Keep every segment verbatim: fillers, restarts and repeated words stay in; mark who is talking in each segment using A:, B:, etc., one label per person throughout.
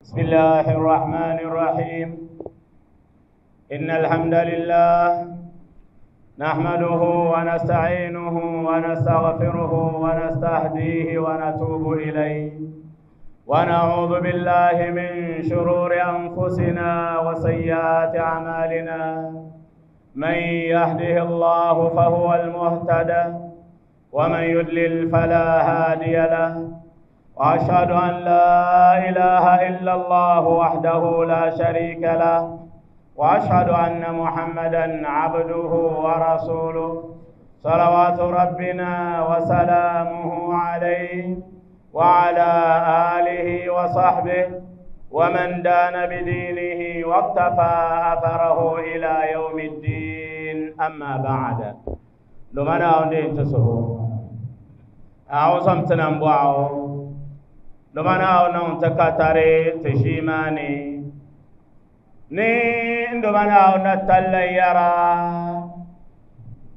A: بسم الله الرحمن الرحيم. إن الحمد لله نحمده ونستعينه ونستغفره ونستهديه ونتوب إليه، ونعوذ بالله من شرور أنفسنا وسيئات أعمالنا. من يهده الله فهو المهتد، ومن يضلل فلا هادي له، وأشهد أن لا إله إلا الله وحده لا شريك له، وأشهد أن محمدا عبده ورسوله، صلوات ربنا وسلامه عليه وعلى آله وصحبه ومن دان بدينه واقتفى أثره إلى يوم الدين. أما بعد، لمن أولين تسهو أعوزم تنبعو لمن أولين تكتري تشيماني ني لمن أولين تليرا.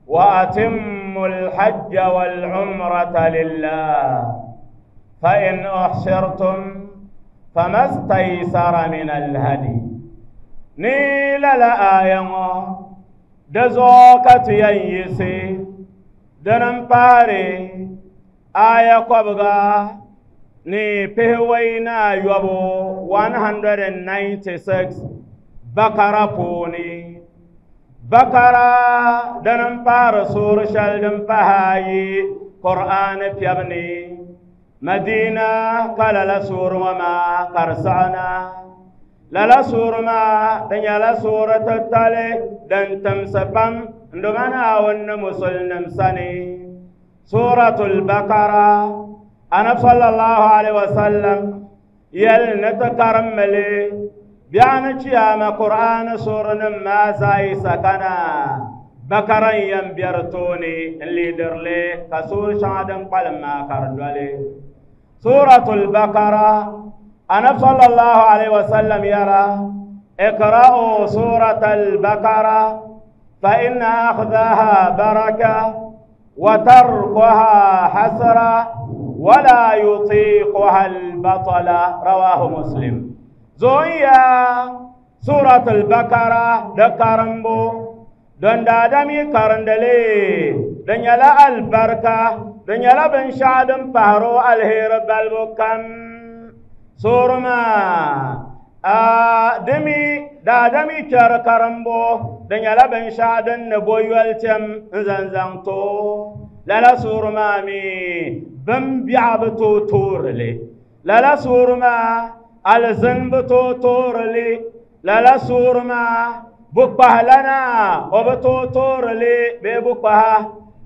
A: وأتم الحج والعمرة لله، فإن أحصرتم فما استيسر من الهدي. نيل لآية دزوكة ينيسي دنمباري آية قبغا ني بهوينا يبو مئة وتسعة وتسعين بقرة بوني بقرة دنمبار سور شل دنبهاي قرآن بيبني مدينة قال لا سور وما قرصعنا لا لا سور ما دنيا لا سورة تتالي دن تمسبم عندما ون مسلم سني سورة البقرة. أنا صلى الله عليه وسلم يل نتكرملي بيان قيام قرآن سورة ما زاي سكنا بقرة ينبرتوني اللي درلي كسور شادم قلما كردولي سورة البقرة. أنا صلى الله عليه وسلم يرى اقرأوا سورة البقرة فإن أخذها بركة وتركها حسرة ولا يطيقها البطل، رواه مسلم. زويا سورة البقرة دكارمبو دون دادمي كارندلي دنيلا البركة دنيلا بن شادم بهرو الهير بالبكم سورما دمي دادمي كار كارمبو دنيلا بن شادم نبويولتم زنزانتو لالا سورما مي بن بيعبتو تورلي لالا سورما الزنبتو تورلي لالا سورما بقهلنا وبتو تورلي ببقها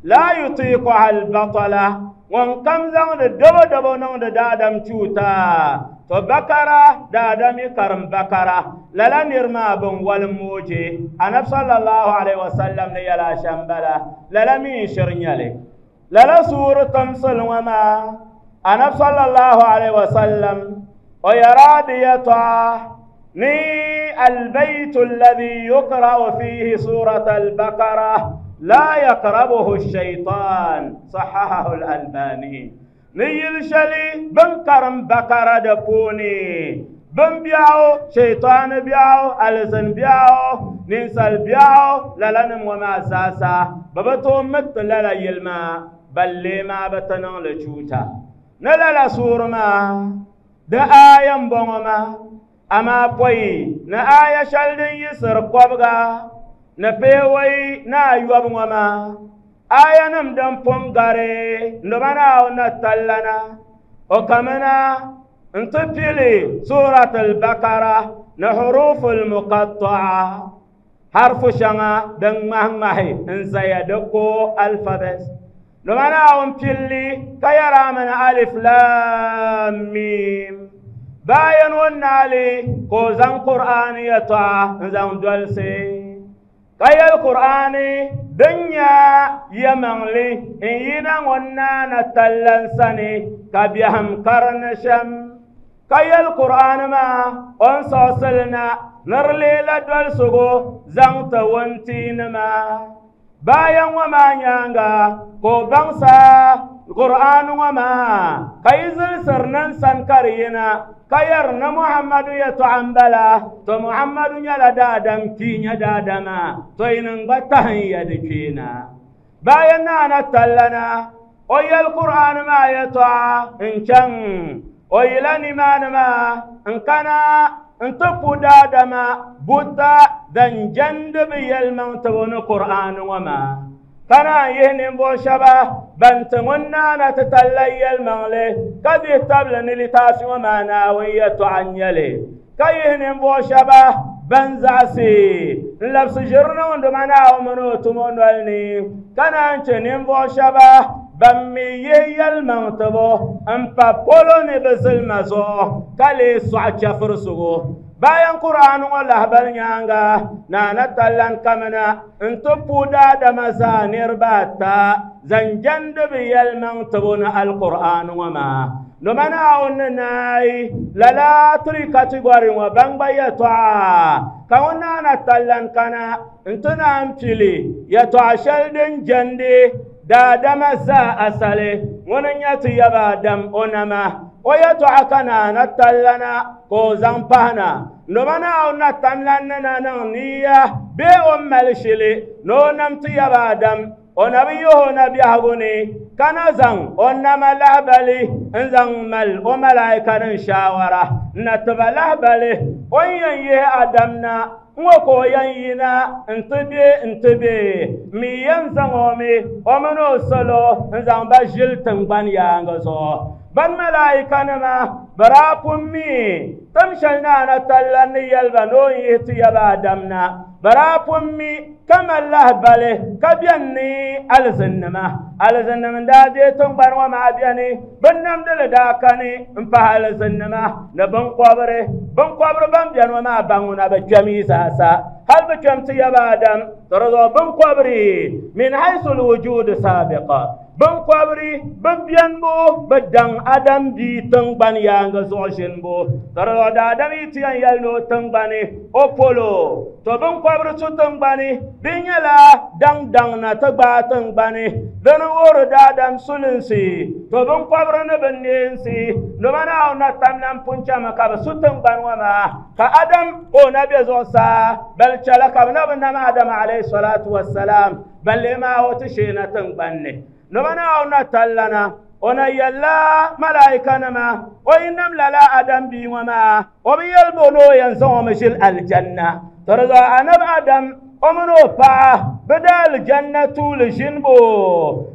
A: لا يطيقها البطلة وانكم زون دبو دبو نون دادم تشوتا تو بكرة دادم كرم بكرة لالا نرما بن والموجي أنا صلى الله عليه وسلم نيلا شمبلا لالا مين شرنيالي لالا سورة تمثل وما أنا صلى الله عليه وسلم ويراديتا ني البيت الذي يقرأ فيه سورة البقرة لا يقربه الشيطان، صححه الألباني. نيل شلي بنكرم بقرة دبوني بن بيعو شيطان بيعو ألزن بيعو ننسل بيعو للنم وما ساسا ببتو مت للا يلما بل لما بتنان لشوتا نلالا سورما دا آيام بوما أما بوي نا آية شلدن يسر قبغا نبيوي نا يوب وما آية نمدن پونغاري نبانا ونتلنا وكمنا انتبلي سورة البقرة نحروف المقطعة حرف شنا دن مهمهي انزيدكو الفابس نبانا ونبلي كيرا من ألف لام ميم باين ونالي كوزان قرآن يطع انزان دولسي كي القرآن دنيا يمنلي إن ينا ونانا تلنسني كبيهم قرنشم كي القرآن ما أنصاصلنا نرلي لدولسغو زانت وانتين ما Bayan ŋɔ maa nyaaŋa ka o baŋsa Qur'aan ŋɔ maa ka yi zilsiri ninsan ka di yina ka yɛri ni Muhammadu yɛltɔɣa m-bala to Muhammadu nyɛla daadam kpii nyɛ daadama to yinim gba tahin ya di kpeena bayan naana tallana o yɛli Qur'aan maa yɛltɔɣa n-chaŋ o yila nimaani maa n-kana n-ti pu daadama buta din jɛndi bɛ yɛlimaŋ tibu ni Qur'aan ŋɔ maa ka naan yihi ninvuɣ shɛba ban ti ŋun naana ti talla yɛlimaŋli ka dihi tabili ni litaafi ŋɔ maa Naawuni yɛltɔɣa n-nyɛ li ka yihi ninvuɣ shɛba ban zaɣisi n-labisi ʒiri niŋdima Naawuni mini o tumo noli ni ka naan che ninvuɣ shɛba ban mi yihi yɛlimaŋ tibu n-pa polo ni bɛ zilima zuɣu ka lee sɔɣi chɛfirisigu bayan Qur'aan ŋɔ lahibali nyaaŋa naana tallan kamina n-ti pu daadama zaa niriba ata zaŋ jɛndi bɛ yɛlimaŋ tibu ni Alqur'aan ŋɔ maa doma Naawuni ni naai lala three category ŋɔ ban gba yɛltɔɣa ka ŋun naana tallan kana n-ti naan pili yɛltɔɣa shɛli din jɛndi daadama zaa asali ŋuni n-nyɛ ti yaba Adam o nama o yɛltɔɣa ka naana tallana ka o zaŋ pahina doma Naawuni na tamlan ni na niŋ niya bee o mali shili ni o nam ti yaba Adam o na bi yihi o na biɛhigu ni ka na zaŋ o nama lahibali n-zaŋ mali o malaika nim shaawara n-na tiba lahibali o ni yɛn yihi Adam na ŋɔ ka o yɛn yina n-ti be n-ti be mi yɛn zaŋ o mi o mini o salo n-zaŋ ba ʒili tiŋgbani yaaŋa zuɣu ban malaikanima bɛ daa pun mi tim shɛli naana talla ni yɛli ba ni o ni yihi ti yaba Adam na bɛ daa pun mi ka mali lahibali ka bɛni ni alizinnima alizinnima n-daa deei tiŋgbani ŋɔ maa bɛni binnamdili daa kani m-pahi alizinnima ni binkɔbiri binkɔbiri ban bɛni ŋɔ maa baŋ ŋuna bɛ kpɛm yi zaasa hali bɛ kpɛm ti yaba Adam to di zuɣu binkɔbiri min haythu lwujud saabiqa binkɔbiri bɛ bɛnibu bɛ daŋ Adam bia tiŋgbani yaaŋa zuɣu ʒinibu to di zuɣu daadam yi ti yɛn yɛli ni o tiŋgbani o polo to binkɔbiri su tiŋgbani bɛ nyɛla daŋ daŋ na ti gbaai tiŋgbani dini wuhiri daadam sulinsi to binkɔbiri ni bɛ neensi doma Naawuni na tamla n pun chami ka bɛ su tiŋgbani ŋɔ maa ka Adam ka o na be zuɣusaa bali chɛla ka bɛ na bi nam Adam alayhi salatu wassalam balli maa o ti sheena tiŋgbani ni doma Naawuni na tallana o na yɛlila malaikanima o yi nam lala Adam bia ŋɔ maa o bi yɛli bo ni o yɛn zaŋ o mi ʒili aljanna to di zuɣu anabi Adam o mini o paɣa bɛ daa aljanna tuuli ʒinibu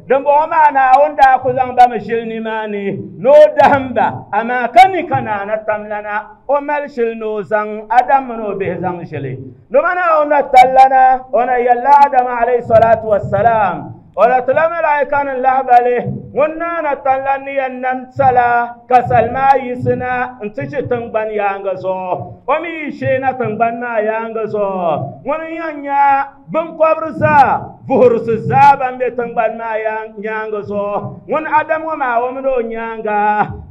A: dimbɔŋɔ maa Naawuni daa ku zaŋ ba mi ʒili nimaani ni o dahim ba amaa ka ni ka naana tamlana o mali shili ni o zaŋ Adam mini o bihi zaŋ ʒili doma Naawuni na tallana o na yɛlila Adam alayhi salatu wassalam o na tila malaika nim lahibali ŋun naana talla ni yɛn nam sala ka sali maa yiɣisina n-ti ʒi tiŋgbani yaaŋa zuɣu o mi yi sheena tiŋgbani maa yaaŋa zuɣu ŋuni n-yɛn nya binkɔbiri zaa vuhirisi zaa ban be tiŋgbani maa yaaŋa zuɣu ŋun Adam ŋɔ maa o mini o nyaaŋa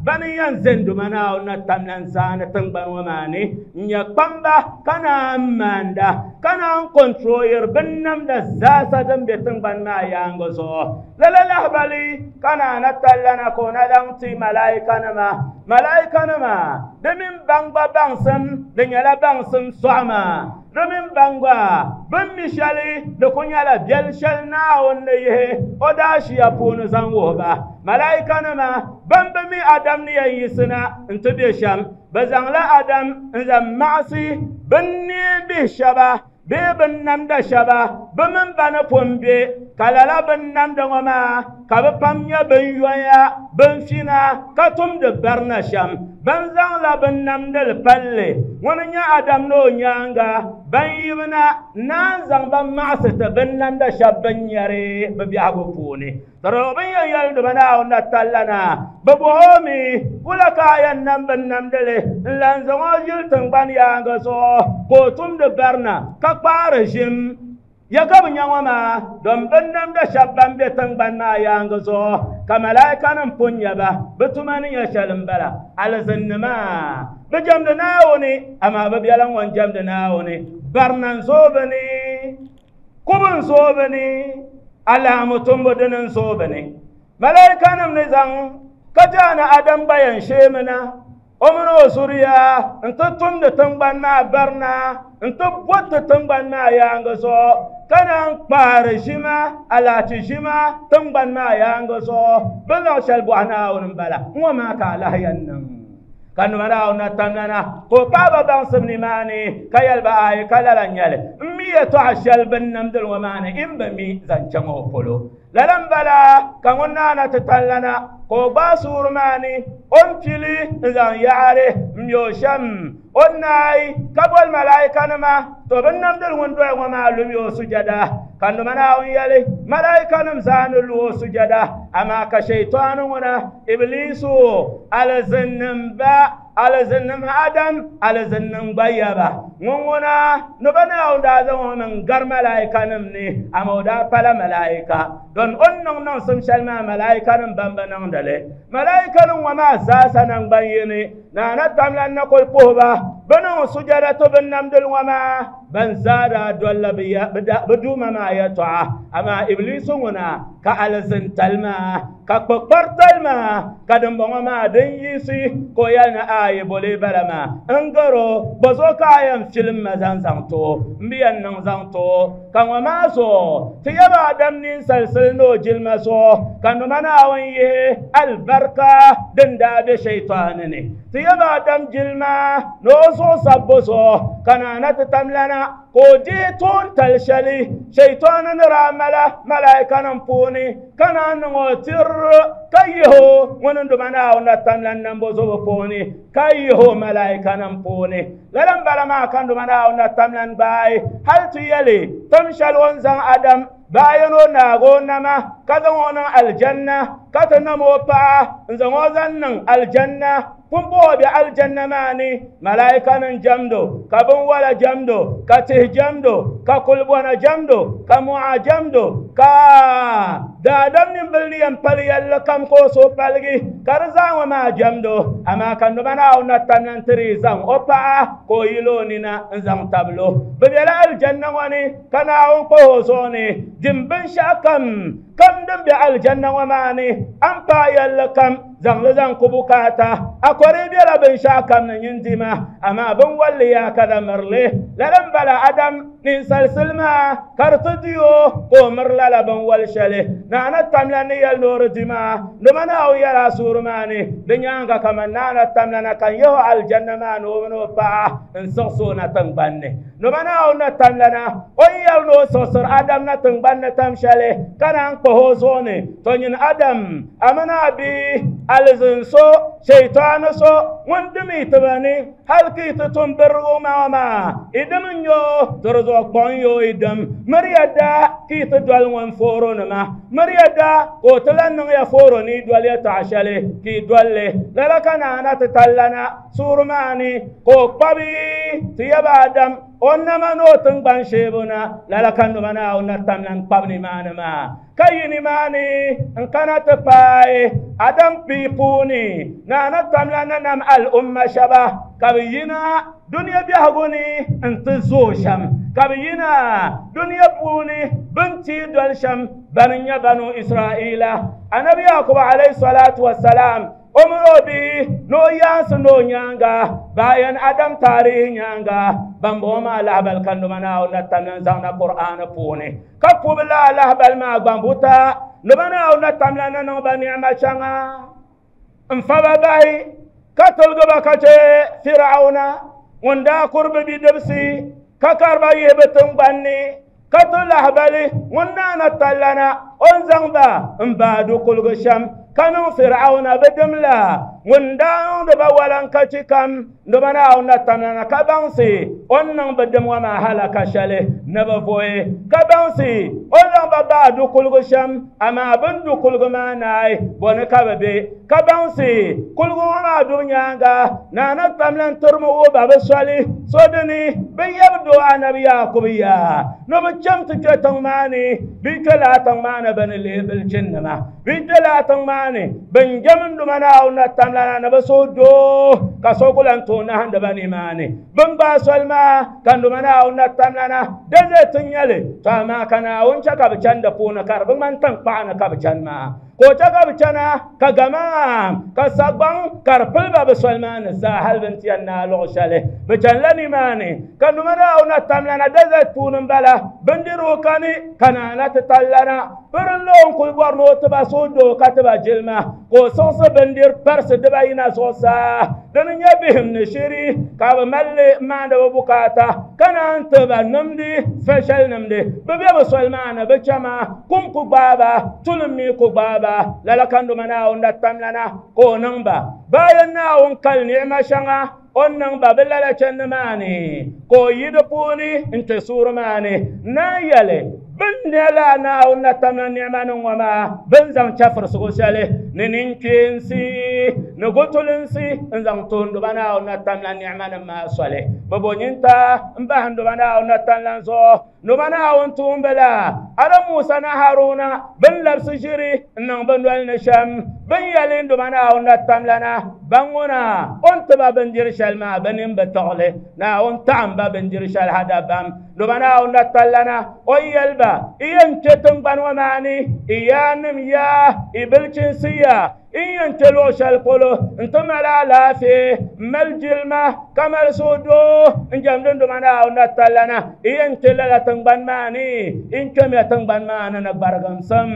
A: bani n-yɛn ʒe doma Naawuni na tamla n-zaani tiŋgbani ŋɔ maa ni n-nyɛ kpamba ka naan maanda ka naan kɔntroyiri binnamda zaasa din be tiŋgbani maa yaaŋa zuɣu lala lahibali ka naana tallana ka o na zaŋ ti malaikanima malaikanima di mini baŋ gba baŋsim di nyɛla baŋsim sɔɣima di mini baŋ gba bɛ mi shɛli di ku nyɛla biɛli shɛli Naawuni ni yihi o daashiya puuni zaŋ wuhi ba malaikanima ban bi mi Adam ni yɛn yiɣisina n-ti be shɛm bɛ zaŋla Adam n-zaŋ maɣisi binneen bihi shɛba bee binnamda shɛba bɛ mini ba ni pun be ka lala binnamda ŋɔ maa ka bɛ pam nyɛ binyoya binfina ka tumdi barina shɛm ban zaŋla binnamdili palli ŋuni n-nyɛ Adam ni o nyaaŋa ban yibina naan zaŋ ba maɣisi ti binnamda shɛba bin nyɛri bɛ biɛhigu puuni to di bin yɛn yɛli doma Naawuni na tallana bɛ bɔhi o mi wula ka a yɛn nam binnamdili n-lan zaŋ o ʒili tiŋgbani yaaŋa zuɣu ka o tumdi barina ka kpaari ʒim ya ka bɛ nya ŋɔ maa dom binnamda shɛba ban be tiŋgbani maa yaaŋa zuɣu ka malaikanim pun nya ba bɛ tuma ni nyɛ shɛli m-bala alizinnima bɛ jɛmdi Naawuni amaa bɛ bɛla ŋun jɛmdi Naawuni barina n-zooi bɛ ni Kubu n-zooi ni alaamu tumbu dini n-zooi bɛ ni malaikanima ni zaŋ ka jaana Adam gba yɛn sheemina o mini o zuriya n-ti tumdi tiŋgbani maa barina n-ti bɔti tiŋgbani maa yaaŋa zuɣu ka naan kpaari ʒima alahachi ʒima tiŋgbani maa yaaŋa zuɣu bɛ zaŋ shɛli bɔhi Naawuni m-bala ŋɔ maa ka alahi yɛn niŋ ka nima Naawuni na tamlana ka o paɣaba baŋsim nimaani ka yɛli ba ayi ka lala n-nyɛli n mi yɛltɔɣa shɛli bɛ ni namdili ŋɔ maa ni n bi mi zaŋ chaŋ o polo lala m-bala ka ŋun naana ti tallana ka o gbaai suuri maa ni o ni pili n-zaŋ yaɣari m-mi o shɛm o ni naai ka boli malaikanima to bɛ ni namdili ŋun dɔya ŋɔ maa lumi o sujada ka nima Naawuni yɛli malaikanim zaa ni lu o sujada amaa ka shaitani ŋuna Iblisu alizinnim ba alizinnim Adam alizinnim gba yaba ŋun ŋuna ni bɛ Naawuni daa zaŋ o niŋ gari malaikanim ni amaa o daa pala malaika don o ni niŋ niŋsim shɛli maa malaikanim ban bi niŋdi li malaikanim ŋɔ maa zaasa naŋgban yini naana tamlan na kuli puhi ba bɛ niŋ sujada ti bɛ namdili ŋɔ maa ban zaa daa dolila bɛ duuma maa yɛltɔɣa amaa Iblisu ŋuna ka alizintali maa ka kpukparitali maa ka dimbɔŋɔ maa din yiɣisi ka o yɛli ni ayi boli bala maa n garo bɔ zuɣu ka a yɛn filim ma zaŋ zaŋ ti o n bi yɛn niŋ zaŋ ti o ka ŋɔ maa zuɣu ti yaba Adam ninsalisili ni o jilima zuɣu ka nima Naawuni yihi alibarika din daa be shaitani ni ti yaba Adam jilima ni o zuɣu sabbu zuɣu ka naana ti tamlana ka o dihi toon-tali shɛli shaitani ni daa mala malaikanim puuni ka naan niŋ o tiri ka yihi o ŋuni n-duma Naawuni na tamlan nambo zuɣu puuni ka yihi o malaikanim puuni lala m-bala maa ka n-duma Naawuni na tamlan gbaai hali ti yɛli tim shɛli o ni zaŋ Adam bayan o naagi o nama ka zaŋ o niŋ aljanna ka ti nam o paɣa n-zaŋ o zaŋ niŋ aljanna pumpɔŋɔ be aljanna maa ni malaikanim jamdo ka binwala jamdo ka tihi jamdo ka kulibɔna jamdo ka mɔɣa jamdo ka daadam nimbili ni yɛn pali yɛlli kam ka o suhu paligi ka di zaa ŋɔ maa jamdo amaa ka noba Naawuni na tamla n-tiri zaŋ o paɣa ka o yili o nina n-zaŋ tabili o bɛ bela aljanna ŋɔ ni ka Naawuni kpahi o zuɣu ni dim binshɛɣu kam kam din be aljanna ŋɔ maa ni a ni paai yɛlli kam zaŋli zaŋ ku bukaata a kɔri bela binshɛɣu kam ni nyin dima amaa binwalli yaa ka da mirili lala m-bala Adam ninsalisili maa ka di ti di o ka o miri lala binwali shɛli naana tamla ni yɛli ni o di di maa nima Naawuni yɛla a suuri maa ni di nyaaŋa kaman naana tamla na ka n yihi o aljanna maa ni o mini o paɣa n-siɣisi o na tiŋgbani ni nima Naawuni na tamla na o ni yɛli ni o siɣisiri Adam na tiŋgbani ni tam shɛli ka naan kpahi o zuɣu ni to nyin Adam a mini a bihi alizin so shaitani so ŋun dimi tiba ni hali ka yi ti tum birigu maa maa i dim n-nyɛ o to di zuɣu kpɔŋ ya o i dim miri ya daa ka yi ti doli ŋun fooro nima miri ya daa ka o ti lan niŋ ya fooro ni yi doli yɛltɔɣa shɛli ka yi doli li lala ka naana ti tallana suuri maa ni ka o kpabi ti yaba Adam o nama ni o tiŋgbani sheebu na lala ka nima Naawuni na tamla n-kpabi nimaani maa ka yi nimaani n-kana ti paai Adam pii puuni naana tamla na nam al-umma shɛba ka bɛ yina duniya biɛhigu ni n-ti zooi shɛm ka bɛ yina duniya puuni bɛ ni ti doli shɛm bani n-nyɛ Banu Israila Anabi Yakubu alayhi salatu wasalam o mini o bihi ni o yaansi ni o nyaaŋa bayan Adam taarihi nyaaŋa bambɔŋɔ maa lahabali ka nima Naawuni na tamla n-zaŋ na Qur'aani puuni ka pubi lala lahabali maa gbambuta nima Naawuni na tamla na niŋ ba ni'ima shɛŋa n-fa ba bahi ka tiligi ba ka che Fir'auna ŋun daa kuri bɛ bidibisi ka kari ba yihi bɛ tiŋgbani ni ka ti lahabali ŋun naana tallana o ni zaŋ ba n-baai du kuligi shɛm ka niŋ Fir'auna bɛ dimla ŋun daa niŋdi ba walankachi kam nima Naawuni na tamlana ka baŋsi o ni niŋ bɛ dim ŋɔ maa halaka shɛli ni bɛ vuhi ka baŋsi o ni zaŋ ba baai du kuligi shɛm amaa bɛ ni du kuligi maa naai bɔni ka bɛ be ka baŋsi kuligi ŋɔ maa dubu nyaaŋa naana tamla n-tirimi wuhi ba bɛ soli so dini bɛ yɛbi doo Anabi Yakubu yaa ni bɛ cham ti kpe tiŋ maa ni bɛ yi kpe lala tiŋ maa ni bɛ ni leei bilichinnima bɛ yi kpe lala tiŋ maa ni bɛ ni jɛm n-duma Naawuni na tamla tamlana na bi suhudoo ka so ku lan tooi nahandi ba nimaani bin gbaai soli maa ka nduma Naawuni na tamlana desert n nyɛli to amaa ka Naawuni chɛ ka bi chani di puuni ka di bi ŋmani tankpaɣu ni ka bi chani maa ka o chɛ ka bi chana ka gama ka sagbaŋ ka di pili ba bi soli maa ni zaa hali bin ti yɛn naai luɣu shɛli bi chanila nimaani ka nduma Naawuni na tamlana desert puuni n bala bindirigu kani ka naana ti tallana pirinla o n kuli bɔri ni o tiba suhudoo ka tiba jilima ka o siɣisi bindir parisi dibayi na zuɣusaa dini nyɛ bihim ni shiri ka bi malli maandi bi bukaata ka naan tiba nimdi special nimdi bi be bi soli maa ni bi chama kum ku gbaaba tulim mi ku gbaaba lala ka nduma Naawuni na tamlana ka o niŋ ba bayan Naawuni kali ni'ima shɛŋa o niŋ ba bi lala chandi maa ni ka o yi di puuni n ti suuri maa ni naan yɛli bin nyɛla Naawuni na tamla ni'ima ni ŋɔ maa bin zaŋ chɛfirisigu shɛli ni ninkpeensi ni gutulinsi n zaŋ toonduba Naawuni na tamla ni'ima nim maa soli bi bo nyinta n bahinduba Naawuni na tamla zuɣu nduma Naawuni tuumbila Adam Musa na Haruna bin labisi ʒiri n niŋ bi noli ni shɛm bin yɛli nduma Naawuni na tamlana ban ŋuna o ni tiba bindiri shɛli maa bi nin bi tiɣili Naawuni taɣam ba bindiri shɛli ha dabam nduma Naawuni na tallana o yɛli ba i yɛn kpɛ tingbani ŋɔ maa ni i yaanim yaa i bilchinsi yaa n yɛn kpɛ luɣu shɛli polo n ti mali alaafee n mali jilima ka mali suhudoo n jɛmdi nduma Naawuni na tallana i yɛn kpɛ lala tingbani maa ni n kpɛmiya tingbani maa ni ni gbarigimsim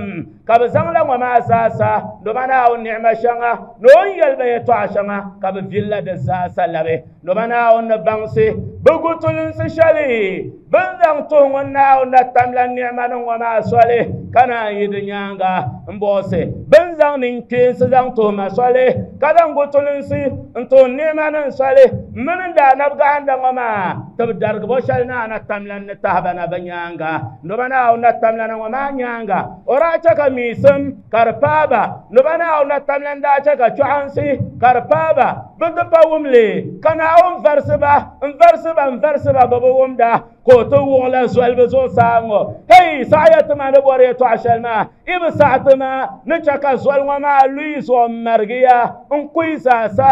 A: ka bi zaŋla ŋɔ maa zaasa nduma Naawuni ni'ima shɛŋa ni o ni yɛli ba yɛltɔɣa shɛŋa ka bi villa di zaasa labi nduma Naawuni ni baŋsi bi gutulinsi shɛli bin zaŋ tuhi ŋun Naawuni na tamla ni'ima ni ŋɔ maa soli ka naan yi di nyaanga n buɣisi bin zaŋ ninkpeensi zaŋ tuhi ma soli ka zaŋ gutulinsi n tuhi ni'ima nim soli mini n daa nabi gahinda ŋɔ maa ti bi darigibo shɛli naa na tamla ni tahiba na bi nyaanga nduma Naawuni na tamla na ŋɔ maa nyaanga o daa chɛ ka miisim ka di paaba nduma Naawuni na tamla n daa chɛ ka chɔɣinsi ka di paaba bi ti pa wumli ka Naawuni varisi ba n varisi ba n varisi ba bi bi wumda ka o ti wuɣila zoli bi zuɣusaa ŋɔ hei saɣaya tima ni bɔri yɛltɔɣa shɛli maa i bi saɣa tima ni chɛ ka zoli ŋɔ maa luyi zuɣu n marigiya n kuyi zaasa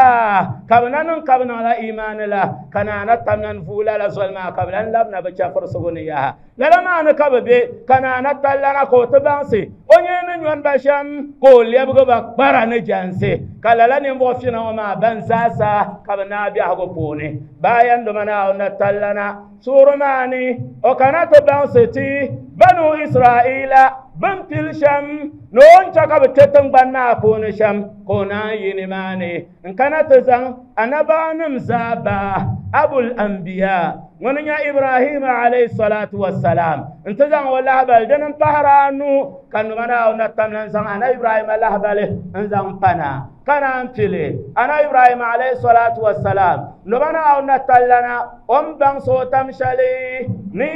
A: ka bi na niŋ ka bi niŋla imaani la ka naana tamlan vuula la zoli maa ka bi lan labina bi chɛfirisigu ni yaha lala maa ni ka bi be ka naana tallana ka o ti baŋsi o nyɛ ni nyɔni ba shɛm ka o lɛbigi ba kpara ni jɛnsi ka lala ninvuɣu fina ŋɔ maa ban zaasa ka bi naai biɛhigu puuni bayan duma Naawuni na tallana suuri maa ni o kana ti baŋsi ti banu Israila bin pili shɛm ni o ni chɛ ka bi kpɛ tingbani maa puuni shɛm ka o naan yi nimaani n kana ti zaŋ anabaanim zaa ba abul anbiya ŋuni nyɛ Ibrahima alayhi salatu wassalam n ti zaŋ o lahabali dini n pahari anu ka nduma Naawuni na tamla n zaŋ ana Ibrahima lahabali n zaŋ pana ka naan pili ana Ibrahima alayhi salatu wassalam nduma Naawuni na tallana o ni baŋsi o tam shɛli ni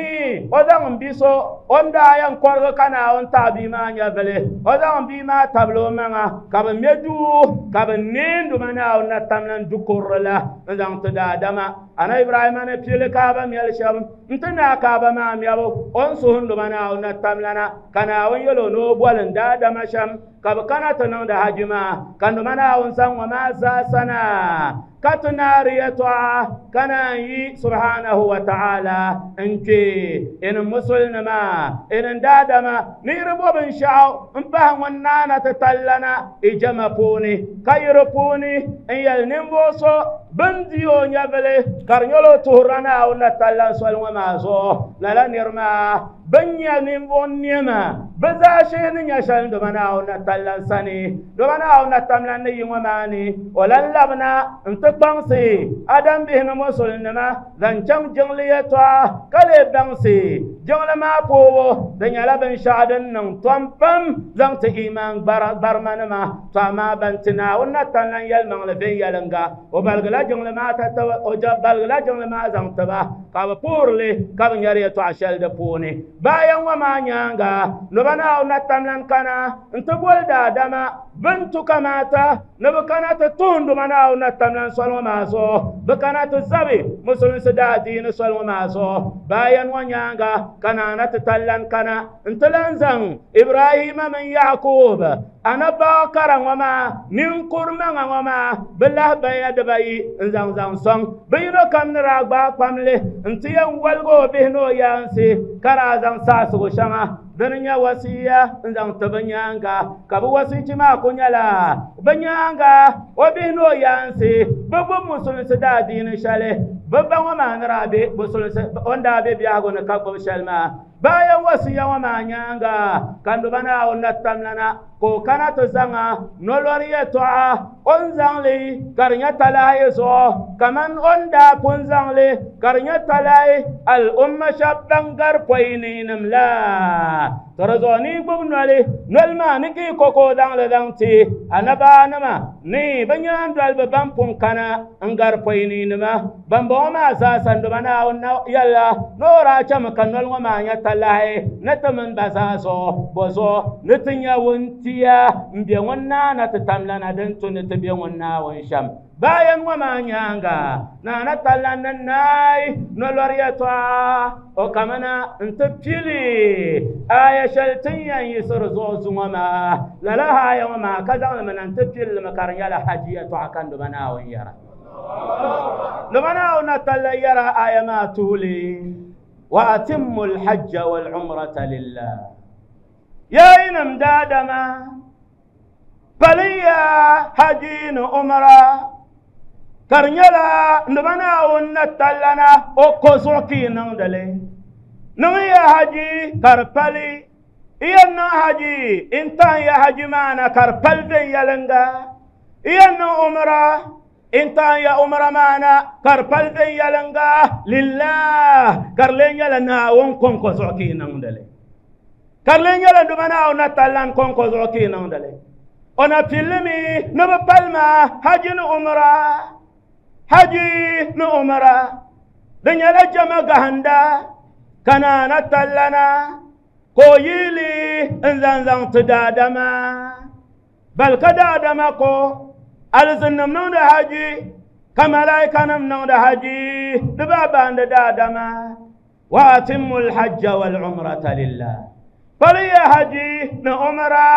A: o zaŋ n bi so o ni daa yɛn kɔrigi ka Naawuni taɣi bia maa nyɛvili o zaŋ n bia maa tabili o maŋa ka bi mɛ duu ka bi neei nduma Naawuni na tamla n du kurili la n zaŋ ti daadama ana Ibrahima ni pili kaaba mɛli shɛm n ti naai kaaba maa mɛbu o ni suhi nduma Naawuni na tamlana ka Naawuni yɛl o ni o boli n daadama shɛm ka bi kana ti niŋdi haji maa ka nduma Naawuni zaŋ ŋɔ maa zaasa na ka ti naari yɛltɔɣa ka naan yi subhanahu wa ta'ala n kpe ini musulinima ini daadama ni yiri bo binshaɣu n pahi ŋun naana ti tallana i jama puuni ka yiri puuni n yɛli ninvuɣu so bin di o nyɛvili ka di nyɛla o tuhurila Naawuni na tallan soli ŋɔ maa zuɣu lala niri maa bin nyɛ ninvuɣu nɛma bi zaashee ni nyɛ shɛli nduma Naawuni na tallan sani nduma Naawuni na tamlan ni yi ŋɔ maa ni o lan labina n ti kpaŋsi adam bihi ni musulinima zaŋ chaŋ jiŋli yɛltɔɣa ka lee baŋsi jiŋli maa poobu di nyɛla binshaɣu din niŋ tom pam zaŋ ti imaan gbarimanima to amaa ban ti Naawuni na tamlan yɛlimaŋli viɛnyɛlinga o baligila jiŋli maa o baligila jiŋli maa zaŋ tiba ka bi puhirili ka bi nyɛri yɛltɔɣa shɛli di puuni bayan ŋɔ maa nyaanga nduma Naawuni na tamlan kana n ti boli daadama Bɛn tu kamaata ni bɛ kana ti tuhinduma Naawuni na tamlan soli ŋɔ maa zuɣu bɛ kana ti zabi musulinsi daadiini soli ŋɔ maa zuɣu bayan ŋɔ nyaaŋa ka naana ti tallan kana n-ti lan zaŋ Ibrahima mini Yakub anabbawa kara ŋɔ maa ninkuri maŋa ŋɔ maa bɛ lahabaya dibayi n-zaŋ zaŋ sɔŋ bɛ yino kam ni daa gbaai kpamli n-ti yɛn waligi o bihi ni o yaansi ka daa zaŋ saɣisigu shɛŋa dini nyɛ wasiya n-zaŋ ti bɛ nyaaŋa ka bɛ wasichi maa ku nyɛla bɛ nyaaŋa o bihi ni o yaansi bɛ gbubi musulinsi daadiini shɛli bɛ ba ŋɔ maa ni daa be musulinsi o ni daa be biɛhigu ni ka gbubi shɛli maa bayan wasiya ŋɔ maa nyaaŋa ka nduba Naawuni na tamlana ka o kana ti zaŋa nolori yɛltɔɣa o ni zaŋli ka di nyɛ talahi zuɣu kaman o ni daa pun zaŋli ka di nyɛ talahi al-umma shɛba ban gari pɔi niinim la to di zuɣu ni gbubi noli noli maa ni ka yi ko ka o zaŋli zaŋ ti anabaanima ni bɛ nyaandoliba ban pun kana n gari pɔi niinima bambɔŋɔ maa zaa nduba Naawuni na yɛlila ni o daa chami ka noli ŋɔ maa nyɛ talahi ni ti mini ba zaa zuɣu bɔ zuɣu ni ti nyɛ wuntia n be ŋun naana ti tamlana din tu ni ti be ŋun Naawuni shɛm bayan ŋɔ maa nyaaŋa naana tallan ni naai nolori yɛltɔɣa o kamina n-ti pili aya shɛli tin yɛn yiɣisiri zuɣu zuŋɔ maa lala aya ŋɔ maa ka zaŋli mi na n-ti pilli mi ka di nyɛla haji yɛltɔɣa ka nduba Naawuni yɛra nduba Naawuni na talla yɛra aya maa tuhuli wa atimmu alhajja walumrata lillah yaa yinim daadama paliya haji ni umra ka di nyɛla nduba Naawuni na tallana o ko zuɣu ka yi niŋdili niŋ ya haji ka di pali i yɛn niŋ haji n tan ya haji maa na ka di pali viɛnyɛliŋga i yɛn niŋ umra n tan ya umra maa na ka di pali viɛnyɛliŋga lillah ka di lee nyɛla Naawuni kɔŋko zuɣu ka yi niŋdili ka di lee nyɛla nduba Naawuni na tallan kɔŋko zuɣu ka yi niŋdili o na pillimi ni bi pali maa haji ni umra haji ni umra di nyɛla jama gahinda ka naana tallana ka o yiili n zaŋ zaŋ ti daadama bal ka daadama ko alizinnim niŋdi haji ka malaikanim niŋdi haji di baa baandi daadama wa atimmu alhajja walumrata lillah paliya haji ni umra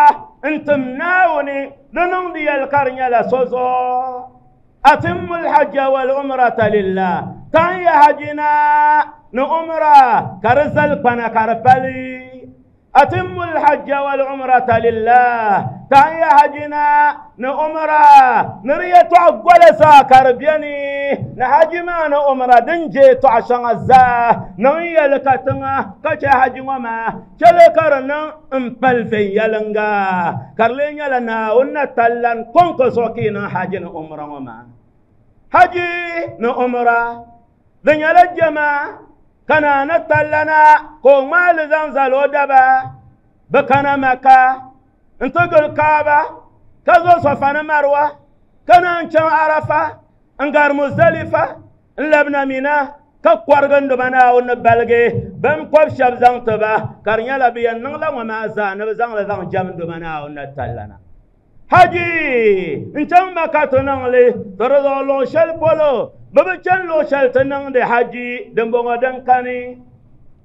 A: n tim Naawuni di niŋdi yɛli ka di nyɛla so zuɣu atimmu alhajja walumrata lillah tan ya hajina ni umra ka di zali kpana ka di pali atimmu alhajja walumrata lillah tan ya hajina ni umra ni di yɛltɔɣa gola zaa ka di beni ni haji maa ni umra din je tɔɣa shɛŋa zaa niŋ yɛli ka tiŋa ka chɛ haji ŋɔ maa chɛli ka di niŋ n pali viɛnyɛliŋga ka di lee nyɛla Naawuni na tallan kɔŋko zuɣu ka yi niŋ haji ni umra ŋɔ maa haji ni umra di nyɛla jama ka naana tallana ka o ŋmaali zaŋ zali o daba bɛ kana Maka n ti gili Kaaba ka zo Safa ni Marwa ka naan chaŋ Arafa n gari Muzdalifa n labina Mina ka kɔrigi nduba Naawuni ni baligi bɛn kɔbi shɛba zaŋ ti ba ka di nyɛla bɛ yɛn niŋla ŋɔ maa zaa ni bɛ zaŋli zaŋ jɛm nduba Naawuni na tallana haji n chaŋ Maka ti niŋli to di zuɣu luɣ shɛli polo bɛ bi chani luɣ shɛli ti niŋdi haji dimbɔŋɔ din kani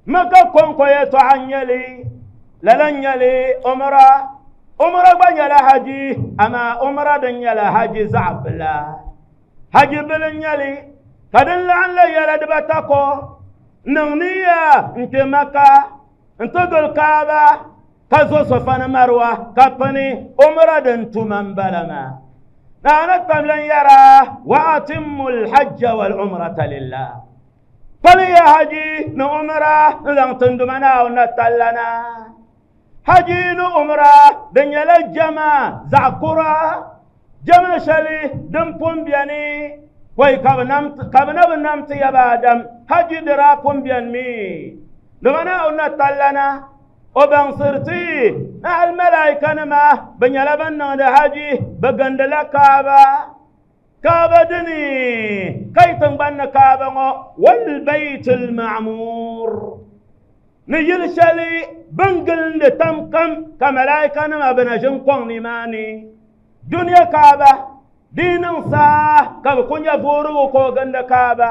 A: Maka kɔŋko yɛltɔɣa n nyɛli lala n nyɛli umra umra gba nyɛla haji amaa umra din nyɛla haji zaɣ bila haji bili n nyɛli ka din laɣim la yɛla dibata ko niŋ niya n kpe Maka n ti gili Kaaba ka zo Safa ni Marwa ka pini umra din tuma n bala maa naana tamlan yɛra wa atimmu alhajja walumrata lillah paliya haji ni umra n zaŋ tinduma Naawuni na tallana haji ni umra di nyɛla jama zaɣ kura jama shɛli din pun beni pɔi ka bɛ na bi nam ti yaba Adam haji di daa pun beni mi dama Naawuni na tallana o baŋsiri ti ni hali malaikanima bɛ nyɛla ban niŋdi haji bɛ gindila Kaaba Kaaba dini ka yi tiŋgbani ni Kaaba ŋɔ walbayt alma'mur ni yili shɛli bin gilindi tam kam ka malaikanima bɛ na ʒini kɔŋ nimaani Duniya Kaaba dinin sa ka bi kunya vuurigu ka o gindi Kaaba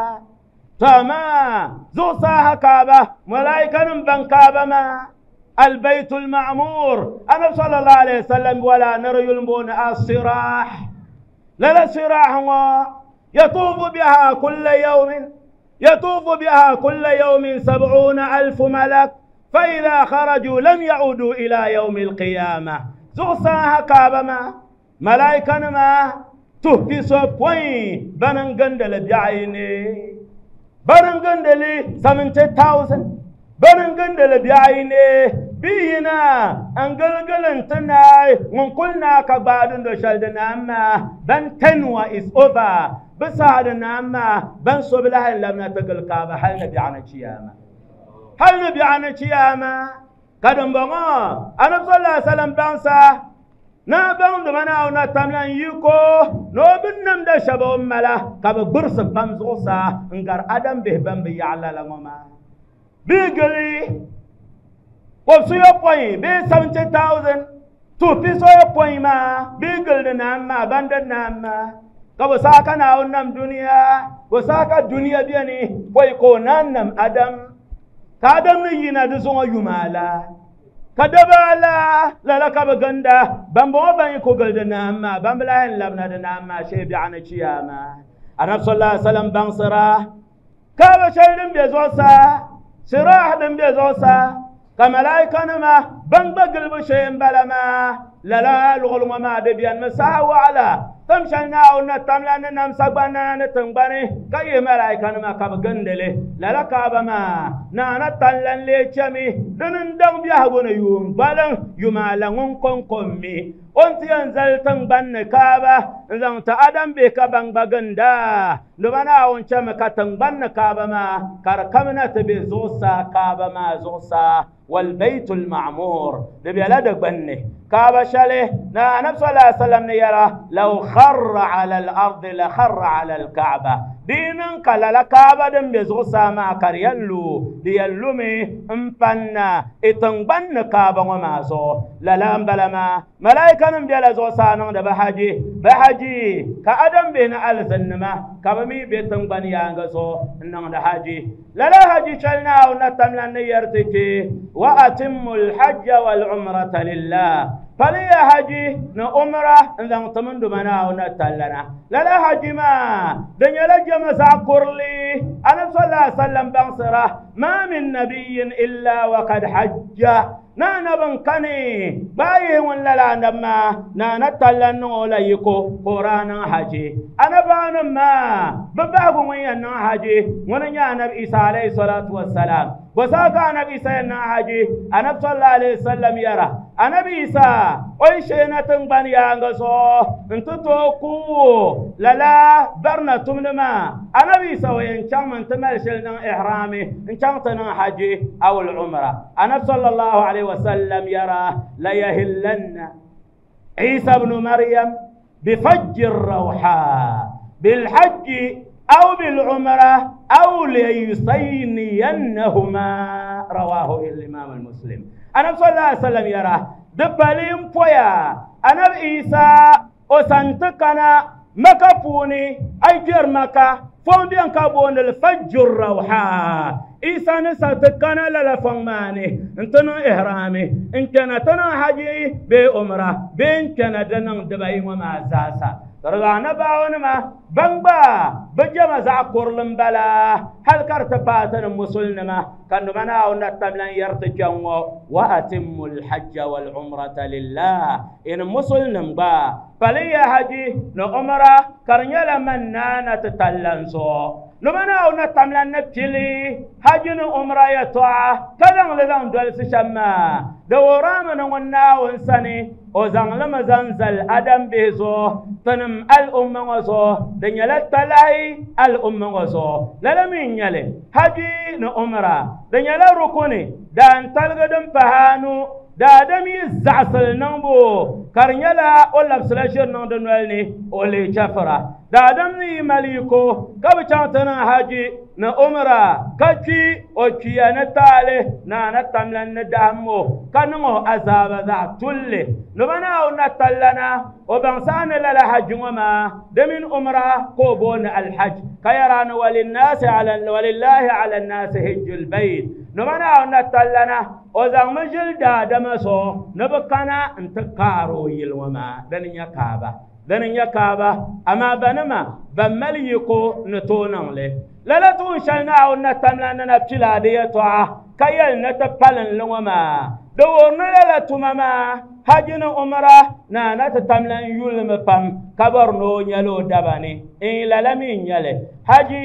A: to amaa zuɣusaa ha Kaaba malaikanim ban Kaaba maa البيت المعمور أنا صلى الله عليه وسلم ولا نري المون الصراح لا الصراح يطوف بها كل يوم يطوف بها كل يوم سبعون ألف ملك فإذا خرجوا لم يعودوا إلى يوم القيامة زغساها كابما ملائكة ما تهبي سبوين بننغندل بعيني بننغندل seventy thousand بننغندل بعيني بينا انغلغلن تناي من كلنا كبادن دشلدنا أما بن تنوى is over بسعدنا أما بن صبلها لم نتقل كابا هل نبي عن الشيامة هل نبي عن الشيامة قدم بغا أنا صلى الله عليه وسلم بانسا نا بان دمنا ونا تملان يكو نو بنم دشبه أملا كابا برس بامزوسا انقر أدم به بام بيعلا لغما بيقلي وبسو يبوي بي seventy thousand two piso يبوي ما بيقل ناما بند ناما كبو ساكا ناو نم دنيا وساكا دنيا بيني ويكو نام أدم كادم نينا دزون يمالا كدبالا لا لا كبغندا بامبو بان يكو قل ناما بامبلا لبنا ناما شي بيعنا شياما أنا صلى الله عليه وسلم بانصرا كابا شيدن بيزوسا سراح دم بيزوسا كملائكة نما بنبقل بشيء بلما لا لا لغلو ما دبيان مساء وعلى تمشينا ونتملنا نمسك بنا نتنبني كي ملائكة نما كبغندلي لا لا كابما نانا تلن ليشمي دنندم بيهبون يوم بلن يمالن كون أنت ينزل تنبن كابا إذا أدم بك بنبغندا لبنا ونشم كتنبن كابا ما كركمنا تبزوسا كابا ما زوسا والبيت المعمور لبلدك بني كابا شله نا نبي صلى الله عليه وسلم نيرا لو خر على الأرض لخر على الكعبة دينن كلا لكعبة دم بزوسا ما كريلو ديلومي امبنا اتنبن كعبة وما زو لا لا بلما ملائكة نم بيلا زوسا نم بحاجي بحاجي كأدم بين ألزنما كبمي بيتنبن يانغزو نم بحاجي لا لا حاجي شلنا ونتملن نيرتكي وأتم الحج والعمرة لله فلي حجي نعمرة إذا تمند منا ونتلنا لا لا حجي ما دنيا لجمع ساكرلي أنا صلى الله عليه وسلم بنصره ما من نبي إلا وقد حج نانا بنكني بايه ولا لا نما نانا تلن ولا يكو قران حجي أنا بان ما بباغ وين حجي ونيا نبي عيسى عليه الصلاة والسلام وساق نبي سيدنا حجي أنا صلى الله عليه وسلم يرى أنا بيسا أي شيء نتنبني يانغسو انت توكو لا لا برنا تمنما أنا بيسا وين كان من تمل شلنا إحرامي إن كان تنا حجي أو العمرة أنا صلى الله عليه وسلم يرى لا يهلن عيسى بن مريم بفج الروحاء بالحج أو بالعمرة أو ليصينينهما رواه الإمام المسلم. أنا صلى الله عليه وسلم يرى دبلين بويا أنا عيسى أسنتكنا مكفوني أي جير مكة فون بيان كابون الفجر روحا عيسى نساتكنا لا فماني انتنا إحرامي إن كان تنا حجي بأمرة بين كان دنا دبي وما زاسا رضانا باون ما بنبا بجمع زعكور لمبلا هل كرت باتن مسلمة كانوا منا ونتملن يرتجوا وأتم الحج والعمرة لله إن مسلم با فلي حجي نعمرة كرنيلا منانا تتلنسو لمنا ونتملن نبتلي حج نعمرة يتوع كذا لذان دولس شما دورام نونا ونسني وزن لما زنزل أدم بهزو تنم الأمة وزو دنيا لتلاي الأمة وزو للمين يلي حجي نعمرة دنيا لركوني دان تلقدم فهانو دا دم يزعسل نمبو كرنيلا ولا بسلاشر نندنوالني ولي شفرة دا دم مليكو كبشانتنا حجي نعمرة كشي وشي نتالي نا نتملن ندهمو كنمو عذاب ذا تولي نبنا ونتلنا o baŋsaani lala hajji ŋɔ maa di mini umra ka o booni alhaj ka yɛra ni walinnasi ala walillahi ala nnasi hijjul bayt nima Naawuni na tallana o zaŋmi ʒili daadama zuɣu ni bi kana n ti kaari o yili ŋɔ maa dini nyɛ kaaba dini nyɛ kaaba amaa banima ban mali yiko ni tooi niŋli lala tuun shɛli Naawuni na tamla ni na pila di yɛltɔɣa ka yɛli ni ti palinli ŋɔ maa di wuhiri ni lala tuma maa haji ni umra na na ti tamla n yulimi pam ka bɔri ni o nyɛla o daba ni n lala mi n nyɛli haji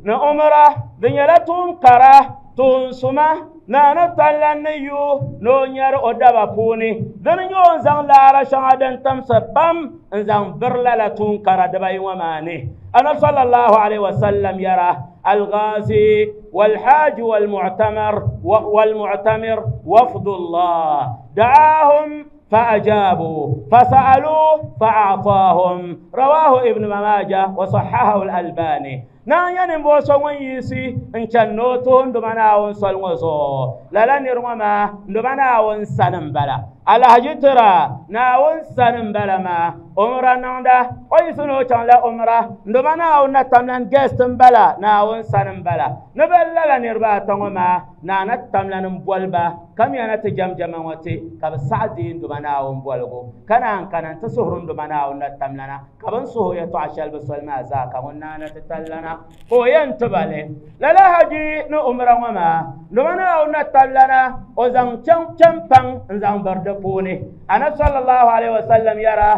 A: ni umra di nyɛla tuun kara tuun suma na na talla ni yu ni o nyɛri o daba puuni dini nyɛ o n zaŋ laara shɛŋa din timsi pam n zaŋ biri lala tuun kara dibayi ŋɔ maa ni anabi sallallahu alaihi wasallam yɛra الغازي والحاج والمعتمر والمعتمر وفد الله دعاهم فأجابوا فسألوه فأعطاهم رواه ابن ماجه وصححه الألباني na yani bo so ŋun yiɣisi n chani ni o tuhi nduma Naawuni soli ŋɔ zuɣu lala niri ŋɔ maa nduma Naawuni sani n bala alahaji tira Naawuni sani n bala maa umra niŋda o yiɣisi ni o chaŋla umra nduma Naawuni na tamlan guest n bala Naawuni sani n bala ni bi lala niriba ata ŋɔ maa naa na ti tamlan n boli ba kamiya na ti jɛmjɛma ŋɔ ti ka bi saɣa deei nduma Naawuni boligu ka naan kana n ti suhuri nduma Naawuni na tamlana ka bin suhi yɛltɔɣa shɛli bi soli maa zaa ka ŋun naa na ti tallana ka o yɛn tiba li lala haji ni umra ŋɔ maa nduma Naawuni na tablana o zaŋ chaŋ champaŋ n zaŋ biri di puuni anabi sallallahu alaihi wasallam yɛra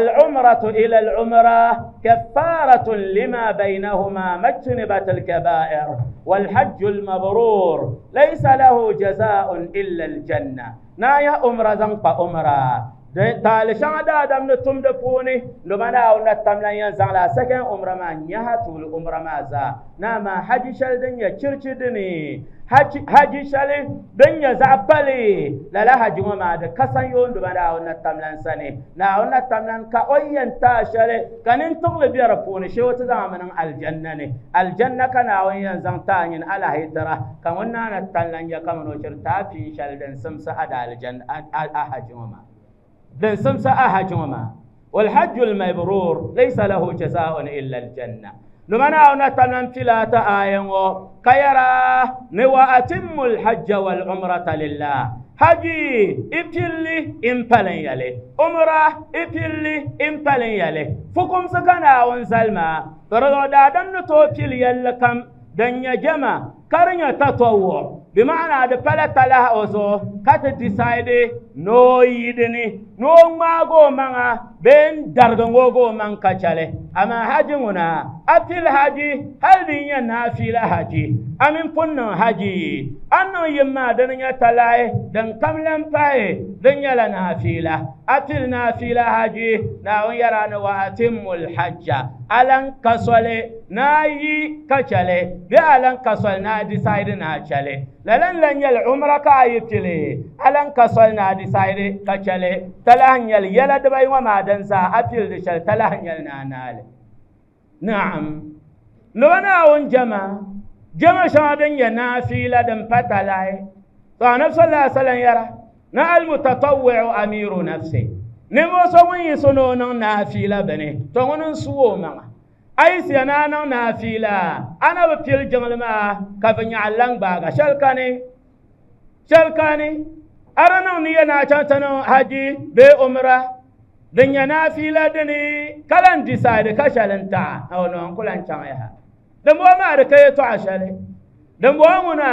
A: العمرة إلى العمرة كفارة لما بينهما ما اجتنبت الكبائر والحج المبرور ليس له جزاء إلا الجنة نايا عمرة زنق عمرة taali shɛŋa daadam ni tumdi puuni nduma Naawuni na tamla yɛn zaŋla second umra maa nyaha tuuli umra maa zaa naa maa haji shɛli din nyɛ chirichi dini haji shɛli din nyɛ zaɣ pali lala haji ŋɔ maa di kasan yoo nduma Naawuni na tamlan sani Naawuni na tamlan ka o yɛn taa shɛli ka nintiɣili bɛ di puuni shee o ti zaŋ mi niŋ aljanna ni aljanna ka Naawuni yɛn zaŋ taa nyini alahi tira ka ŋun naa na tamlan nyɛ kamani o chiri taa pii shɛli din simsi a da aljanna a haji ŋɔ maa din simsa a haji ŋɔ maa والحج المبرور ليس له جزاء إلا الجنة نمنا نتمنى ثلاثة آية كيرا وأتم الحج والعمرة لله حجي إبتلي إمبالين يلي عمرة إبتلي إمبالين يلي فكم سكنا ونسلما فرضو دادم نتوكل يلكم دنيا جمع كرنيا تطوع بمعنى ده بلا تلا أزو كات decide no yidini no mago manga ben dargongo man kachale ama haji nguna atil haji hal dinya nafila haji amin punno haji anno yimma danya talai dan kamlan pae danya la nafila atil nafila haji na on yarana wa atimul hajja alan kasole na yi kachale bi alan kasole na decide na chale lalan lan yal umra ka ayitile alan kasole na decide kachale talan yal yala dbai wa ma dan za atil de shal talan yal na nale na'am lona on jama jama shadan ya nafila dan patalai to annabi sallallahu alaihi wasallam yara na al mutatawwi'u amiru nafsi nimo so mun yi sono nan nafila bane to wonon suwo ma ai siya na nan nafila ana ba fil jangalma ka fa nya allan ba ga shalkane shalkane arana ni yana chantano haji be umra din ya nafila dini kalan decide ka shalanta awono kulan chan ya dan bo ma da kai to ashale dan bo muna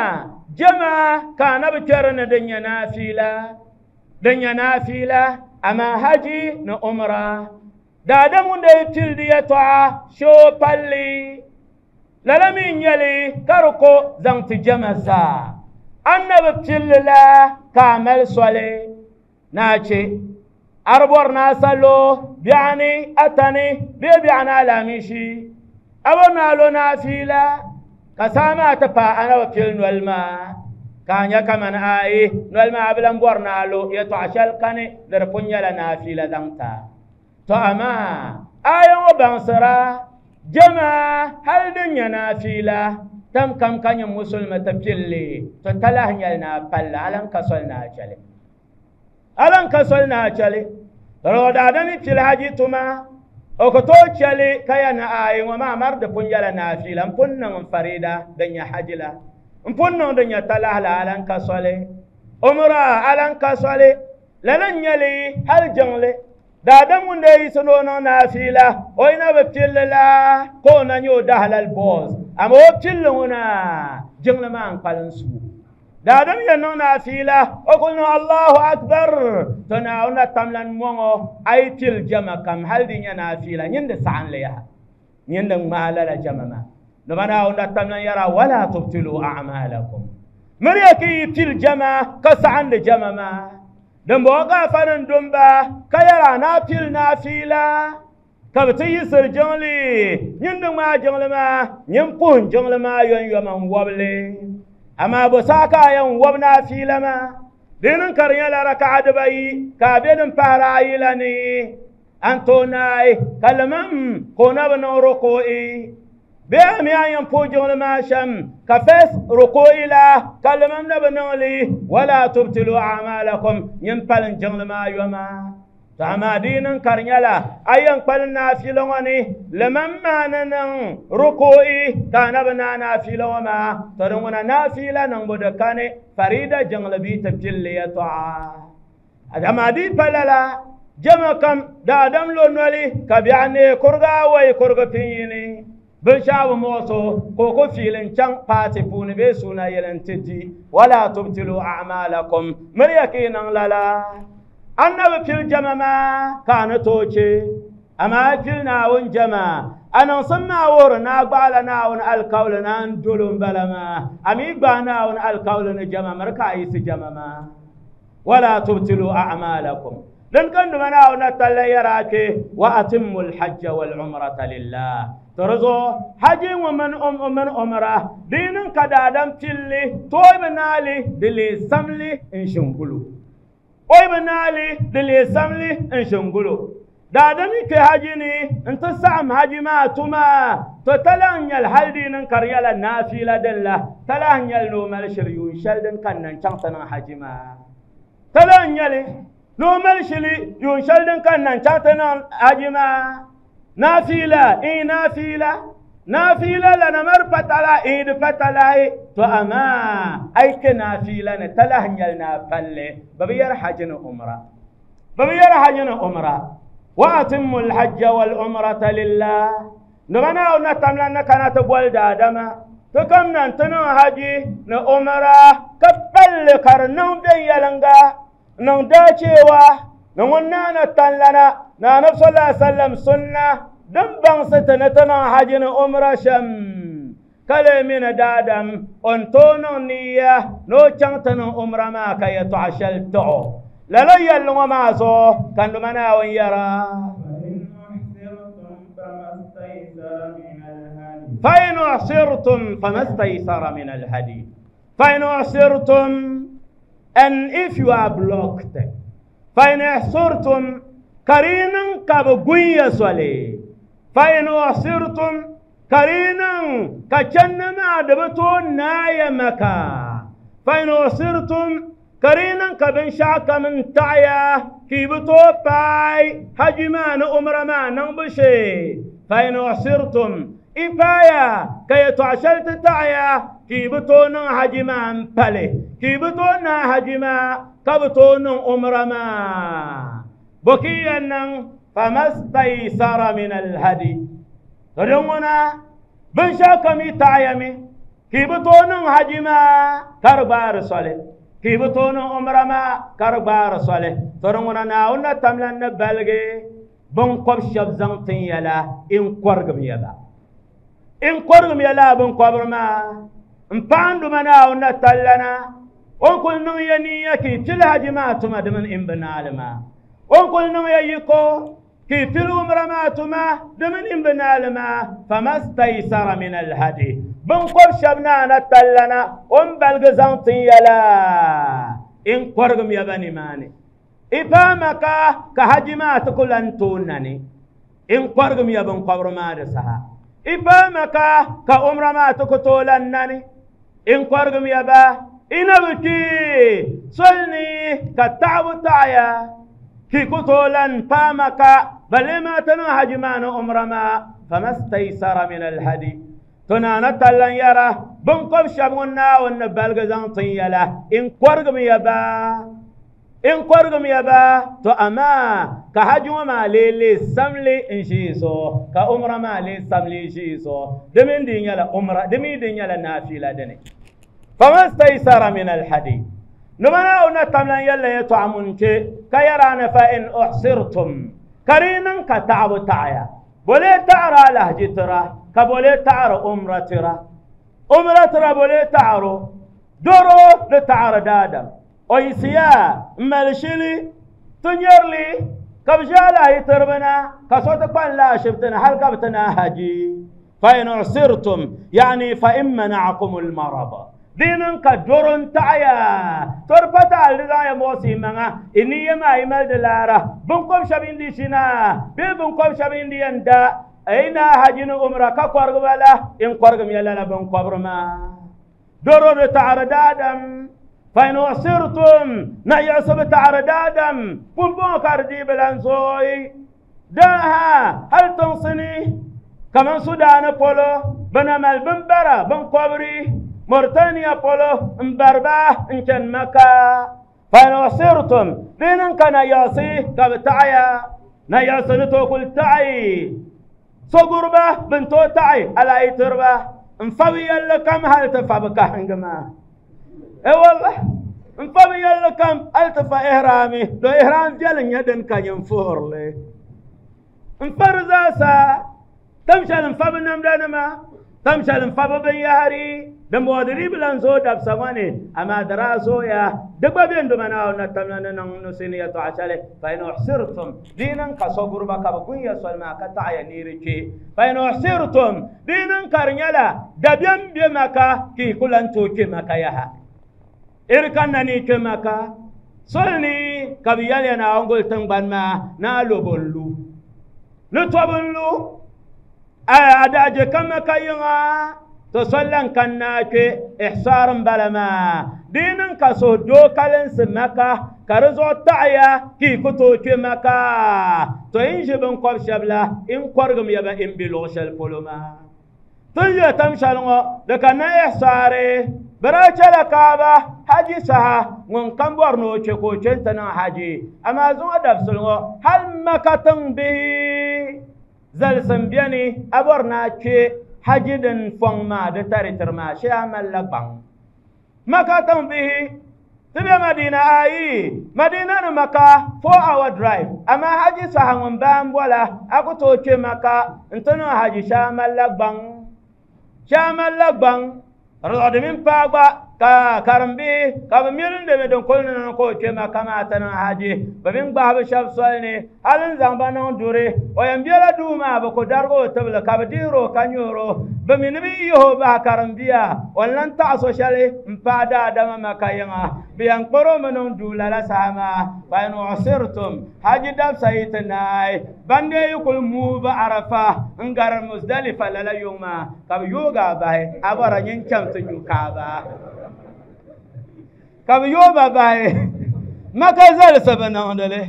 A: jama ka na bi na din ya nafila din ya nafila amma haji na umra da da mun da tildi ya to sho palli lalamin yali karko zan ti jama za annabi tillila kamal sole na ce arbor na salo bi'ani atani bi bi'ana lamishi abona lo nafila kasama ta pa ana wa fil nolma kanya kaman ai nolma ablan borna lo ya to ashal kane dar punya la nafila danta to ama ayan wa bansara jama hal dunya nafila tam kam kanya musulma ta fille to talahnyal na palla alan kasol na chale alan kasol na chale Tɔrɔ daadam pili haji tuma o ku tooi chɛli ka ya na ayi ŋɔ maa mari di pun nyɛla naafila n pun niŋ n farida din nyɛ haji la n pun niŋ din nyɛ talahi la alan ka soli umra alan ka soli lala n nyɛli hali jiŋli daadam ŋun dee yiɣisi ni o niŋ naafila o yi na bi pilli la ka o na nyɛ o dahalali boos ama o pilli ŋuna jiŋli maa n kpalim suui daadam yɛn niŋ naafila o kuli niŋ Allahu akbar to Naawuni na tamlan mɔŋɔ a yi pili jama kam hali di nyɛ naafila nyin di saɣinli yaha nyin di ŋmaai lala jama maa nima Naawuni na tamlan yɛra wala tubtilu a'malakum miriya ki yi pili jama ka saɣindi jama maa din bɔŋɔ ka afa nin dumba ka yɛra naa pili naafila ka bi ti yiɣisiri jiŋli nyin di ŋmaai jiŋli maa nyin puhin jiŋli maa yɔnyɔma n wɔbili amma bo saa ka a yɛn wɔb naafila maa di niŋ ka di nyɛla raka'a dibayi ka a be din pahari ayi la ni an tooi naai ka limam ka o na bi niŋ ruku'i bee a mi a yɛn puhi jiŋli maa shɛm ka first ruku'i la ka limam na bi niŋ li wala tubtilu a'malakum nyin palin jiŋli maa yoma to amaa di niŋ ka di nyɛla a yɛn kpalim naafila ŋɔ ni limam maa ni niŋ ruku'i ka a na bi naai naafila ŋɔ maa to di ŋuna naafila niŋbu di kani farida jiŋli bii ti pilli yɛltɔɣa amaa di pa lala jama kam daadam lo noli ka biɛɣu neei kurigi awɔi kurigi pinyini binshaɣu bi muɣuso ka o ku fiili n chaŋ paati puuni bee suuna yɛli n ti di wala tubtilu a'malakum miriya ka yi niŋ lala annabi pili jama maa ka a ni tooi chɛ amaa a pili Naawuni jama a niŋsim maa wuhiri ni a gbaala Naawuni alikauli ni a ni dolo n bala maa a mi gbaai Naawuni alikauli ni jama miri ka a yiɣisi jama maa wala tubtilu a'malakum din kan duma Naawuni na talla yɛra a kpe wa atimmu lhajja walumrata lillah to di zuɣu haji ŋɔ mini mini umra di niŋ ka daadam pilli tooi bi naali di lee samli n ʒingulu o yi bi naali di lee samli n ʒingulu daadam yi kpe haji ni n ti saɣam haji maa tuma to talahi nyɛli hali di niŋ ka di nyɛla naafila din la talahi nyɛli ni o mali shili yuun shɛli din kanna n chaŋ ti niŋ haji maa talahi nyɛli ni o mali shili yuun shɛli din kanna n chaŋ ti niŋ haji maa naafila in naafila naafila la na mari patala in di patalahi to amaa a yi kpe naafila ni talahi nyɛli ni a palli bi bi yɛri haji ni umra bi bi yɛri haji ni umra wa atimmu lhajja walumrata lillah nima Naawuni na tamlan ni kana ti boli daadama ti kam na n ti niŋ haji ni umra ka palli ka di niŋ viɛnyɛliŋga niŋ daachewa ni ŋun naana tanlana na anabi sallallahu alaihi wasallam sunna din baŋsi ti ni ti niŋ haji ni umra shɛm ka lee mi ni daadam o ni tooi niŋ niya ni o chaŋ ti niŋ umra maa ka yɛltɔɣa shɛli tɔɣo lala yɛlli ŋɔ maa zuɣu ka nduma Naawuni yɛra fa in uhsirtum famastaysara min alhadi fa in uhsirtum and if you are blocked fa in uhsirtum karinin ka bi gun ya soli fa in uhsirtum karinin ka channi maa di bi tooi naaya maka fa in uhsirtum karinin ka binshaɣu kam n taɣaya ka yi bi tooi paai haji maa ni umra maa niŋbu shee fa in uhsirtum i paaya ka yɛltɔɣa shɛli ti taɣaya ka yi bi tooi niŋ haji maa n pali ka yi bi tooi naai haji maa ka bi tooi niŋ umra maa bo ki yɛn niŋ famastaysara min alhadi to din ŋuna binshaɣu kam yi taɣaya mi ka yi bi tooi niŋ haji maa ka di gbaari soli ka yi bi tooi niŋ umra maa ka di gbaari soli to din ŋuna Naawuni na tamlan ni baligi binkɔb shɛba zaŋ tin ya la in kɔrigim ya ba in kɔrigim ya laa binkɔbiri maa n paɣanduma Naawuni na tallana o ni kuli niŋ ya niya ka yi pili haji maa tuma di mini in bi naali maa o ni kuli niŋ ya yiko ka yi pili umra maa tuma di mini in bi naali maa famastaysara min alhadi binkɔb shɛba naana tallana o ni baligi zaŋ tin ya la in kɔrigim ya ba nimaani i paama ka ka haji maa ti ku lan tooi nani in kɔrigim ya binkɔbiri maa di saha i paama ka ka umra maa ti ku tooi lan nani in kɔrigim ya ba ina bi kpi soli ni ka taɣabu taɣaya Ki kutolan pamaka balima tanu hajimana umrama famastaysara min alhadi tunana tallan yara bunqob shabunna wan balgazan tiyala in qorgum yaba in qorgum yaba to ama ka hajuma lele samli in shiso ka umrama le samli shiso dimin din yala umra dimin din yala nafila dane famastaysara min alhadi نمنا ونتمنى يلا يطعمون كيرانا فإن أحصرتم كرينا كتعب تعيا بولي تعرى لهجي ترى كبولي تعرى أمرة ترى أمرة ترى بولي تعرى دورو لتعرى دادم ويسيا مالشيلي تنيرلي كبجالا يتربنا كصوت قان لا شبتنا هل كبتنا هجي فإن أحصرتم يعني فإن منعكم المرض دينن كدورن تعيا تربتا لغاية موسي منا إني ما يمال دلارة بنكم شبين دي شنا بنكم شبين دي اندا أين هاجين أمرا كقرب ولا إن قرب يلا بنكم ما دورن تعرض آدم فإن أصرتم نيعصب تعرض آدم بنبون كاردي بلانزوي داها هل تنصني كمان سودان بولو بنمال بنبرا بنكبري موريتانيا بولو مبربا انكن مكة فإن أصرتم دينن كان ياسي كبتعيا نياسي نتوكل تعي صقربة بنتو تعي على أي تربة انفوي لكم هل تفابك هنجما اي والله انفوي لكم هل تفا إهرامي لو إهرام جلن يدن كان ينفور لي انفرزاسا تمشى الانفاب النمدانما تمشى الانفاب بن دم ودري بلانزو داب سواني أما دراسو يا دبا بين دمنا ونتمنى نسيني تعشله فإن أحصرتم دينا كصبر بك بكون يسول ما كتاع نيركي فإن أحصرتم دينا كرنيلا دبيم بمكة كي كلن توكي مكة يها إركانني كمكة سولني كبيالي أنا أقول تنبان ما نالو بولو نتوبلو أداجي كما كيما تصلن كناك إحصار بلما دينن كسو دو كالنس مكة كرزو تعيا كي كتو كي مكة تو إنجبن قب شبلا إن قرغم يبا إن بلوش الفلما تنجي تمشالنغو لكنا إحصاري براچه لكابة حاجي سها ون كمبور نو چكو چنتنا حاجي أما زون دفسلنغو هل مكة تنبه زلسن بياني أبورنا چه حاجي دن فون ما د تاري ترما شي عمل لبان مكة به تبي مدينة أي مدينة مكة four hour drive أما حاجي سهون بام ولا أكو توكي مكة انتنو حاجي شامل لبان شامل لبان رضا من باغا ka karambi ka ba mirin da don kullun ko ke ma kama tana haji ba bin ba ba shaf solni halin zamba nan dure o yan biyala duma ba ko dargo tabla ka ba diro kanyoro ba min bi yo ba karambiya wallan ta so shale mpada da ma kayanga biyan qoro manon dula la sama fa in usirtum haji dab sayitnai bande yukul mu ba arafa ngar muzdalifa la yuma ka yoga ba abara nyin chamtu nyukaba kam yoba bae maka zal sabana ondale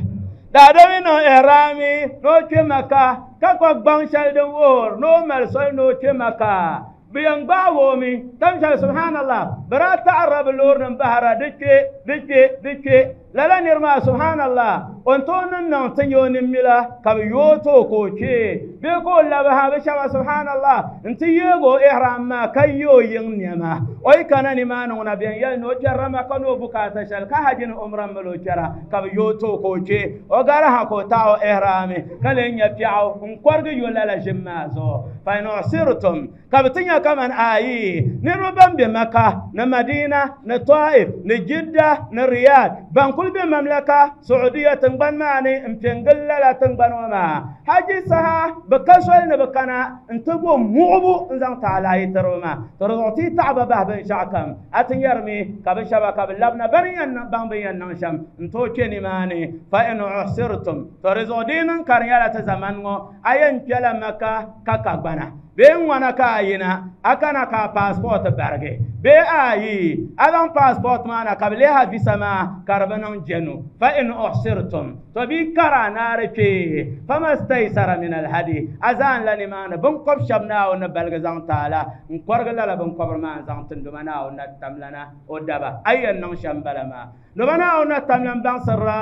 A: da da mi no ihrami no che maka ka ko gbang shal de wor no mal sol no che maka biyan bawo mi tamsha subhanallah bara ta'arrab lor nan bahara dike dike dike lala nirma subhanallah on to nan nan tanyo nin mila ka yoto ko che be ko la ba ha shaba subhanallah inti yego ihram ma kayo yin nyama oy kana ni ma no na biyan yal no jarama kano bukata shal ka hajin umran malo jara ka yoto ko che o gara ha ko ta o ihrami kalen ya fi'u un kwarga yo lala jimma zo fa in usirtum ka bitinya kaman ayi ni ruban be maka na madina na taif na jidda na riyad ban kul be mamlaka saudiya tangban mani impengalla la tangban wama haji saha bakasol na bakana intubo mu'bu nzan ta'ala yitaruma tarzuti ta'ba bah bin shakam atin yarmi kabin shabaka bil labna bariyan ban bayan nan sham into keni mani fa in usirtum tarzudinan karyala ta zaman ngo ayan kala maka kakagbana bee ŋwana ka a yina a kana ka a passport barigi bee ayi a zaŋ passport maa na ka bi leha visa maa ka di bi niŋ jɛnu fa in uhsirtum to bi kara naari kpee famastaysara min alhadi a zaan la nimaani binkɔb shɛba Naawuni ni baligi zaŋ taala n kɔrigi lala binkɔbiri maa n zaŋ tindoma Naawuni na tamlana o daba a yɛn niŋ shɛm bala maa doma Naawuni na tamlan baŋsirila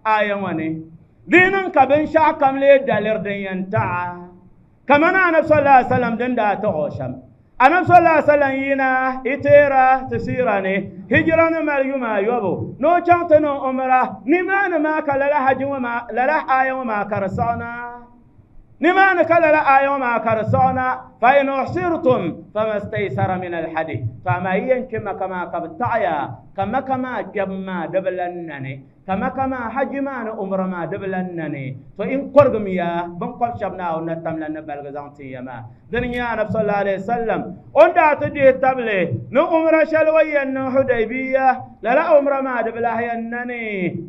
A: aya ŋɔ ni di niŋ ka binshɛɣu kam lee daliri din yɛn taɣa kamani anabi sallallahu alaihi wasallam din daa taɣi o shɛm anabi sallallahu alaihi wasallam yina iteera ti siira ni hijira ni mali yuma ayɔbu ni o chaŋ ti niŋ umra nimaani maa ka lala haji ŋɔ maa lala aya ŋɔ maa ka di siɣina nimaani ka lala aya ŋɔ maa ka di siɣina fa in uhsirtum famastaysara min alhadi to amaa yi yɛn kpɛ maka maa ka bi taɣaya ka maka maa kpɛbu maa di bi lan nani ka maka maa haji maa ni umra maa di bi lan nani to in kɔrigimi ya binkɔb shɛba Naawuni na tamla ni baligi zaŋ tin ya maa dini nyɛ anabi sallallahu alaihi wasallam o ni daa ti dihi tabili ni umra shɛli o yɛn niŋ Hudaybiya lala umra maa di bi lahi yɛn nani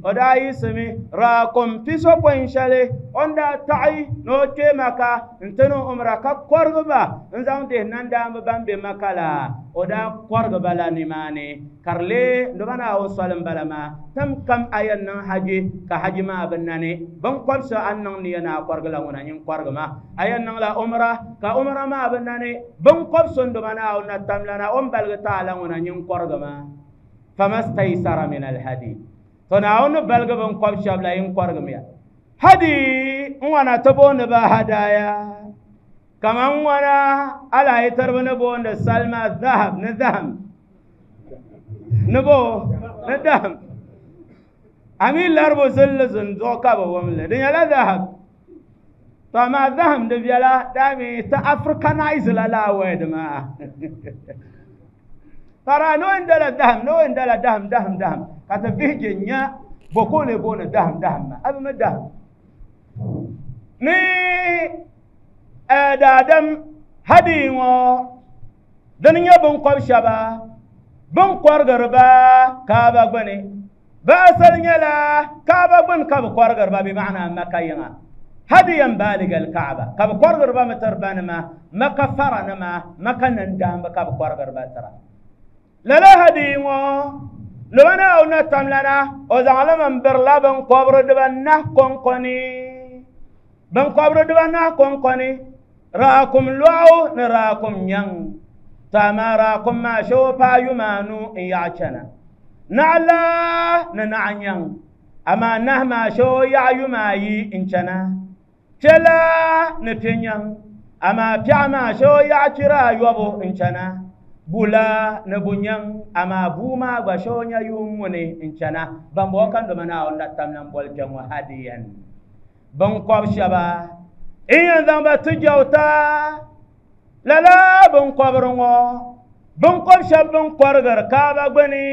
A: o daa yiɣisimi raakum pisopɔin shɛli o ni daa taɣi ni o kpɛ maka n ti niŋ umra ka kɔrigi ba n zaŋ dihi nandaamba ban be maka la o daa kɔrigi ba la nimaani ka di lee noba Naawuni soli n bala maa tam kam a yɛn niŋ haji ka haji maa bi nani binkɔb so a ni niŋ niya ni a kɔrigi la ŋuna nyin kɔrigi ma a yɛn niŋla umra ka umra maa bi nani binkɔb so n doma Naawuni na tamlana o ni baligi taala ŋuna nyin kɔrigi ma famastaysara min alhadi to Naawuni ni baligi binkɔb shɛba la yin kɔrigimiya hadi n wana ti booni ba hadaya kaman ŋwana ala yi tiribi ni booni salima zahab ni zaham ni bo ni daham ami laribu zilli zinduɣu ka bi wumli di nyɛla zahab to amaa zaham di viɛla daami ti africanize la laa word maa para no n dala daham no n dala daham daham daham ka ti vihi je nya boko le booni daham daham maa a bi mi daham ni daadam hadi ŋɔ dini nyɛ binkɔb shɛba bin kɔrigiri ba kaaba gbuni bi asali nyɛla kaaba gbuni ka bi kɔrigiri ba bi maana maka yiŋa hadiyan baaliga alkaaba ka bi kɔrigiri ba mi tiri banima maka fara nima maka nandaamba ka bi kɔrigiri ba tira lala hadi ŋɔ loba Naawuni na tamlana o zaŋlimi n birila binkɔbiri dibanahi kɔŋkɔni binkɔbiri dibanahi kɔŋkɔni raakum lɔɣu ni raakum nyaŋ to amaa raakum maa shee o paai yuma anu n yaɣa chana naɣala ni naɣa nyaŋ amaa nahi maa shee o yaɣa yuma ayi n chana piɛla ni piɛ nyaŋ amaa piɛɣu maa shee o yaɣa chira ayɔbu n chana bula ni bu nyaŋ amaa buu maa gba shee o nya yuun ŋuni n chana bambɔŋɔ ka doma Naawuni na tamla n boli kpɛ ŋɔ hadiyan binkɔb shɛba n yɛn zaŋ ba ti jɛwta lala binkɔbiri ŋɔ binkɔb shɛba bin kɔrigiri kaaba gbuni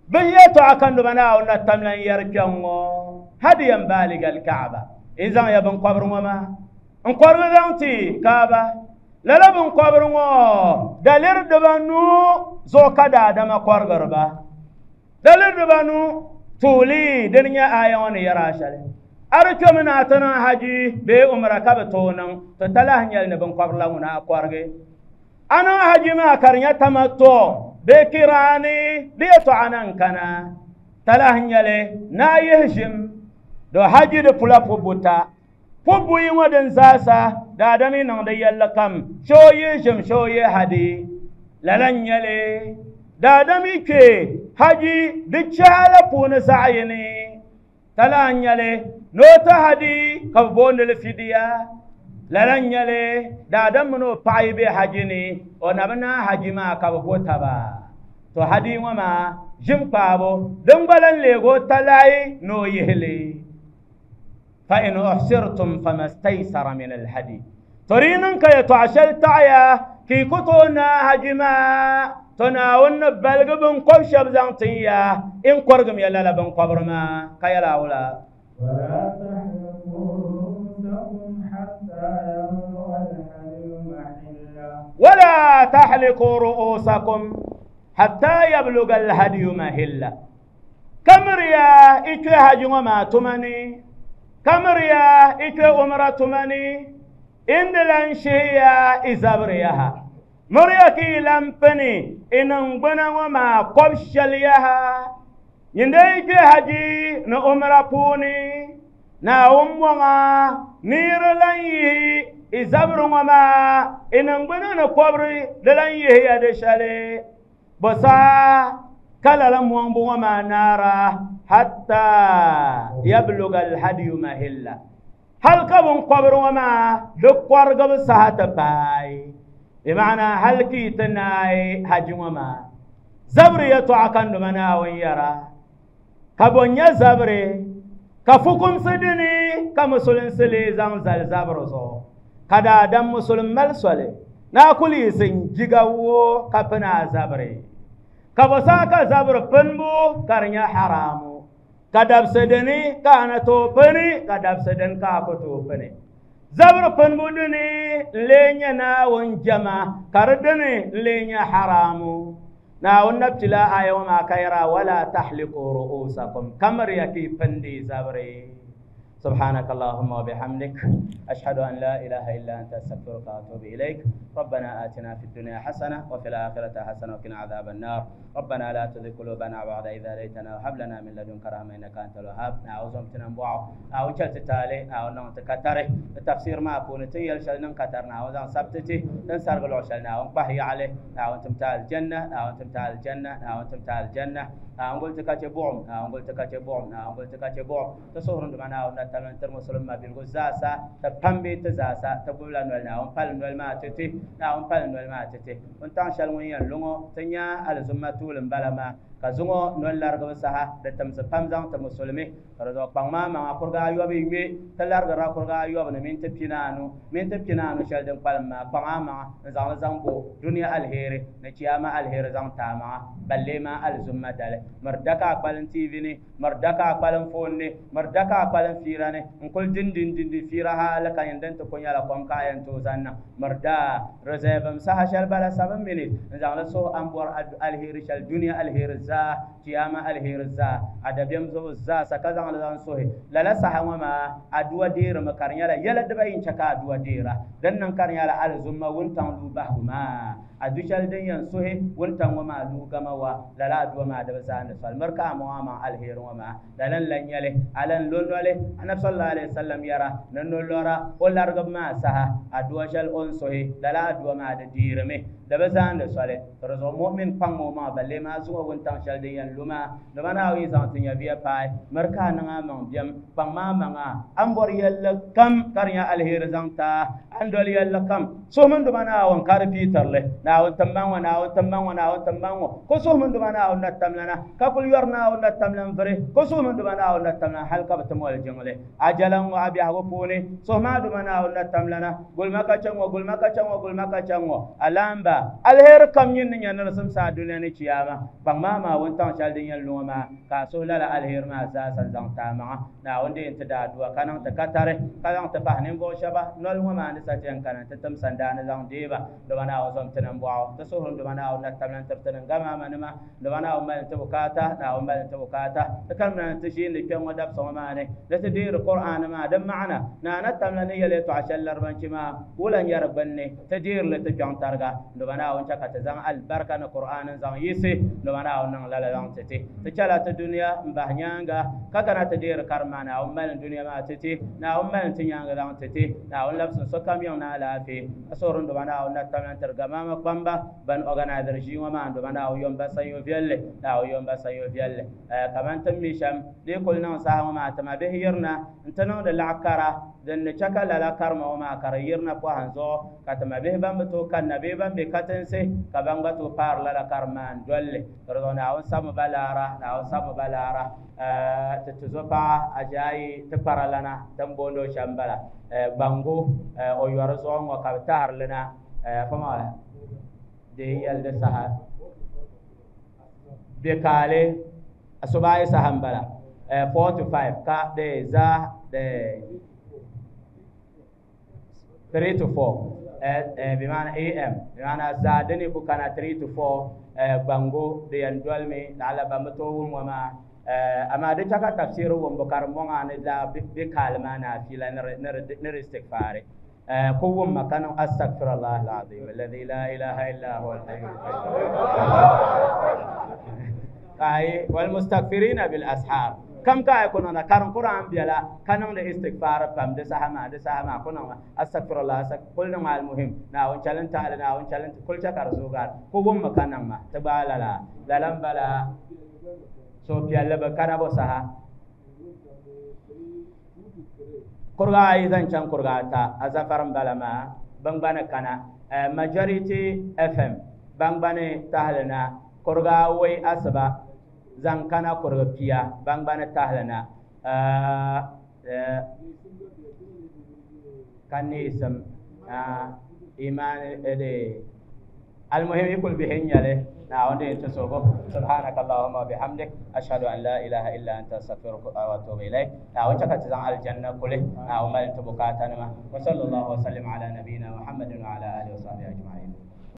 A: bin yɛltɔɣa ka noba Naawuni na tamla n yɛri kpɛŋ ŋɔ hadiyan baaliga alkaaba n zaŋ ya binkɔbiri ŋɔ maa n kɔrigi zaŋ ti kaaba lala binkɔbiri ŋɔ daliri dibanu zuɣu ka daadama kɔrigiri ba daliri dibanu tuuli dini nyɛ aya ŋɔ ni yɛri a shɛli a di kpɛmi ni a ti niŋ haji bee umra ka bi tooi niŋ ti talahi nyɛli ni binkɔbiri la ŋuna a kɔrigi a niŋ haji maa ka di nyɛ tamatɔ bee kiraani di yɛltɔɣa na n kana talahi nyɛli ni a yihi ʒim do haji di pula pubu ta pubu yi ŋɔ din zaasa daadam yi niŋdi yɛlli kam shee o yihi ʒim shee o yihi hadi lala n nyɛli daadam yi kpe haji di chahala puuni zaɣ yini talahi nyɛli ni o ti hadi ka bi booni li fidiya lala n nyɛli daadam mini o paɣa yi be haji ni o na bi naai haji maa ka bi bo taba to hadi ŋɔ maa ʒim kpaabu din gba lan leegi o talahi ni o yihili fa in uhsirtum famastaysara min alhadi to di niŋ ka yɛltɔɣa shɛli taɣaya ka yi ku tooi naai haji maa to Naawuni ni baligi binkɔb shɛba zaŋ tin ya in kɔrigimi ya lala binkɔbiri maa ka yɛla awula
B: ولا تحلقوا رؤوسكم حتى يبلغ الهدي محله
A: ولا تحلقوا رؤوسكم حتى يبلغ الهدي محله كمريا إكي هجي وما تمني كمريا إكي أمرا تمني indilan shiya izabriyaha muriyaki lampini inangbana wama kobshaliyaha nyinde ke haji na umra puni na umwanga nirlan yi izabru wama inangbana na kobri dalan yi ya de shale basa kala lam wambu wama nara hatta yabluga alhadi mahilla hal kabun qabru wama dukwargab sahata pai بمعنى هل كي تناي حج وما زبري يتعكن منا ويرا كبنيا زبري كفكم سدني كمسلم سلي زمزل زبرزو كدا دم مسلم ملسولي ناكلي سنجيغو كفنا زبري كبساك زبر بنبو كرنيا حرامو كدب سدني كان توبني كدب سدن كاكو توبني زبر بنبودني لينيا ونجما كردني لينيا حرامو ناون نبتلا آيوما كيرا ولا تحلقوا رؤوسكم كمر يكي بندي زبري سبحانك اللهم وبحمدك أشهد أن لا إله إلا أنت أستغفرك وأتوب إليك ربنا آتنا في الدنيا حسنة وفي الآخرة حسنة وقنا عذاب النار ربنا لا تزغ قلوبنا بعد إذ هديتنا وهب لنا من لدنك رحمة إنك أنت الوهاب نعوذ بك أو تالي أو نتكتره التفسير ما أكون تيل شلنا كترنا أو سبتتي تنسر قلوع شلنا ونبهي عليه أو تمتال الجنة أو تمتال الجنة أو تمتال الجنة أو قلت كاتبوم أو قلت كاتبوم أو قلت كاتبوم تصورون معنا ونتمنى ترمسلم ما بالغزاسة تبامبي تزاسة تقول لنا ونقال ما تتي ونقال ما تتي ونتعشى المية لونو تنيا على زمتول بلما كزونو نولار غبسها دتم سبام زان تمسلمي رضا بانما ما أقرأ أيوة بيمي تلار غرا أقرأ أيوة بن من تبينانو من تبينانو شلدم بالما بانما زان زان بو دنيا الهير نتياما الهير زان تاما بلما الزمة دل مردكا أقبلن تيفيني مردكا أقبلن فوني مردكا أقبلن فيراني نقول دين دين دين دين فيرها لك يندن تكون يلا قوم كاين توزنا مردا رزيبم سها شل بلا سبع مينيت زان سو أمبور الهير شل دنيا الهير زا kiyama alheri za adabiyam zo za saka zan zan sohe lala sahawa ma aduwa dira makarnya la yala daba in chaka aduwa dira dan nan karnya la alzumma wuntan lu bahuma adushal den yan sohe wuntan wa ma lu gama wa lala aduwa ma da zan sal marka ma ma alheri wa ma lalan lan yale alan lonole annabi sallallahu alaihi wasallam yara nan lora o largab ma saha aduwa shal on sohe lala aduwa ma da dira me da bazan da sale razo mu'min pango ma balle ma zuwa wuntan shal den yan luma da bana wi zan tin ya biya pai marka nan amon biyam pang ma manga an bor yalla kam karnya alheri zanta an dol yalla kam so mun do bana won kar peter le na won tamman wa na won tamman wa na won tamman wa ko so mun do bana won tamlana ka kul yorna won tamlan fere ko so mun do bana won tamlan halka batamol jingle ajalan wa abi hago pone so ma do bana won tamlana gul maka chango gul maka chango gul maka chango alamba alheri kam nyin nyan rasum sa dunya ni ciyama bang ma ma won tan shal din yan luma ka so lala alheri ma za san zang ta ma na wonde ta da duwa kanan ta katare kanan ta fahnin bo shaba nol ma ni sa tiyan kanan ta tam sanda na zang deba do bana wa zam tanan bo ta so hon do bana wa na tamlan tabtanan gama manuma do bana wa mal ta bukata na wa mal ta bukata ta kalman ta shi ne kyan wadab so ma ne da ta dir qur'an ma dan ma'ana na na tamlan yale to ashal larban ma wulan yarban ne ta dir le ta kyan targa do bana wa ta ka ta zang albarka na qur'an zang yisi do bana wa nan lala zang tete ta chala ta duniya mbahnyanga kaka na ta dir karma na wa mal duniya ma tete na wa mal tinyanga zang tete na wa labsun so kam yon na lafi asorun do bana wa na tamlan targa ma kwamba ban organizer shi wa ma do bana wa yomba sayo vielle na wa yomba sayo vielle kaman tammi sham de kul nan sa ma ta ma be hirna intano da la'akara dan ne chaka la la karma wa ma kar yirna ko hanzo katama be ban to kan na be ban be katense ka ban ga to par la la karma dolle rodona on samu balara na on samu balara ta tuzopa ajayi ta paralana tambondo shambala bango o yoro zongo ka tarlana fama de yalde saha be kale asubai sahambala four to five ka de za de three to four بمعنى A M بمعنى زادني كان three to four بانغو دي اندولمي لعل بامتو وما اما دي تشاكا تفسير ومبكر مونغا لا بكالما نا في لا نر استغفار قوم مكان استغفر الله العظيم الذي لا اله الا هو الحي القيوم اي والمستغفرين بالاسحار كم كا يكون انا كارن قران بيلا كانون ده استغفار بام ده سهما ده سهما كنا استغفر الله كل ما المهم نا وان چالن تعالى نا وان چالن كل چكر زوغار قوم مكان ما تبالا لا لا لم بلا so piɛlli bi kana bo saha kurga ayi zaŋ chaŋ kurga ata azafar n bala maa bingbani kana majority F M bangbani tahali na kurga awoi asiba zaŋ kana kurga pia bangbani tahali na ka neesim iman المهم يقول بهن يلي نعم تسوقه سبحانك اللهم وبحمدك أشهد أن لا إله إلا أنت أستغفرك وأتوب إليك نعم تزان الجنة كله نعم ما أنت بكاتنا وصلى الله وسلم على نبينا محمد وعلى آله وصحبه أجمعين.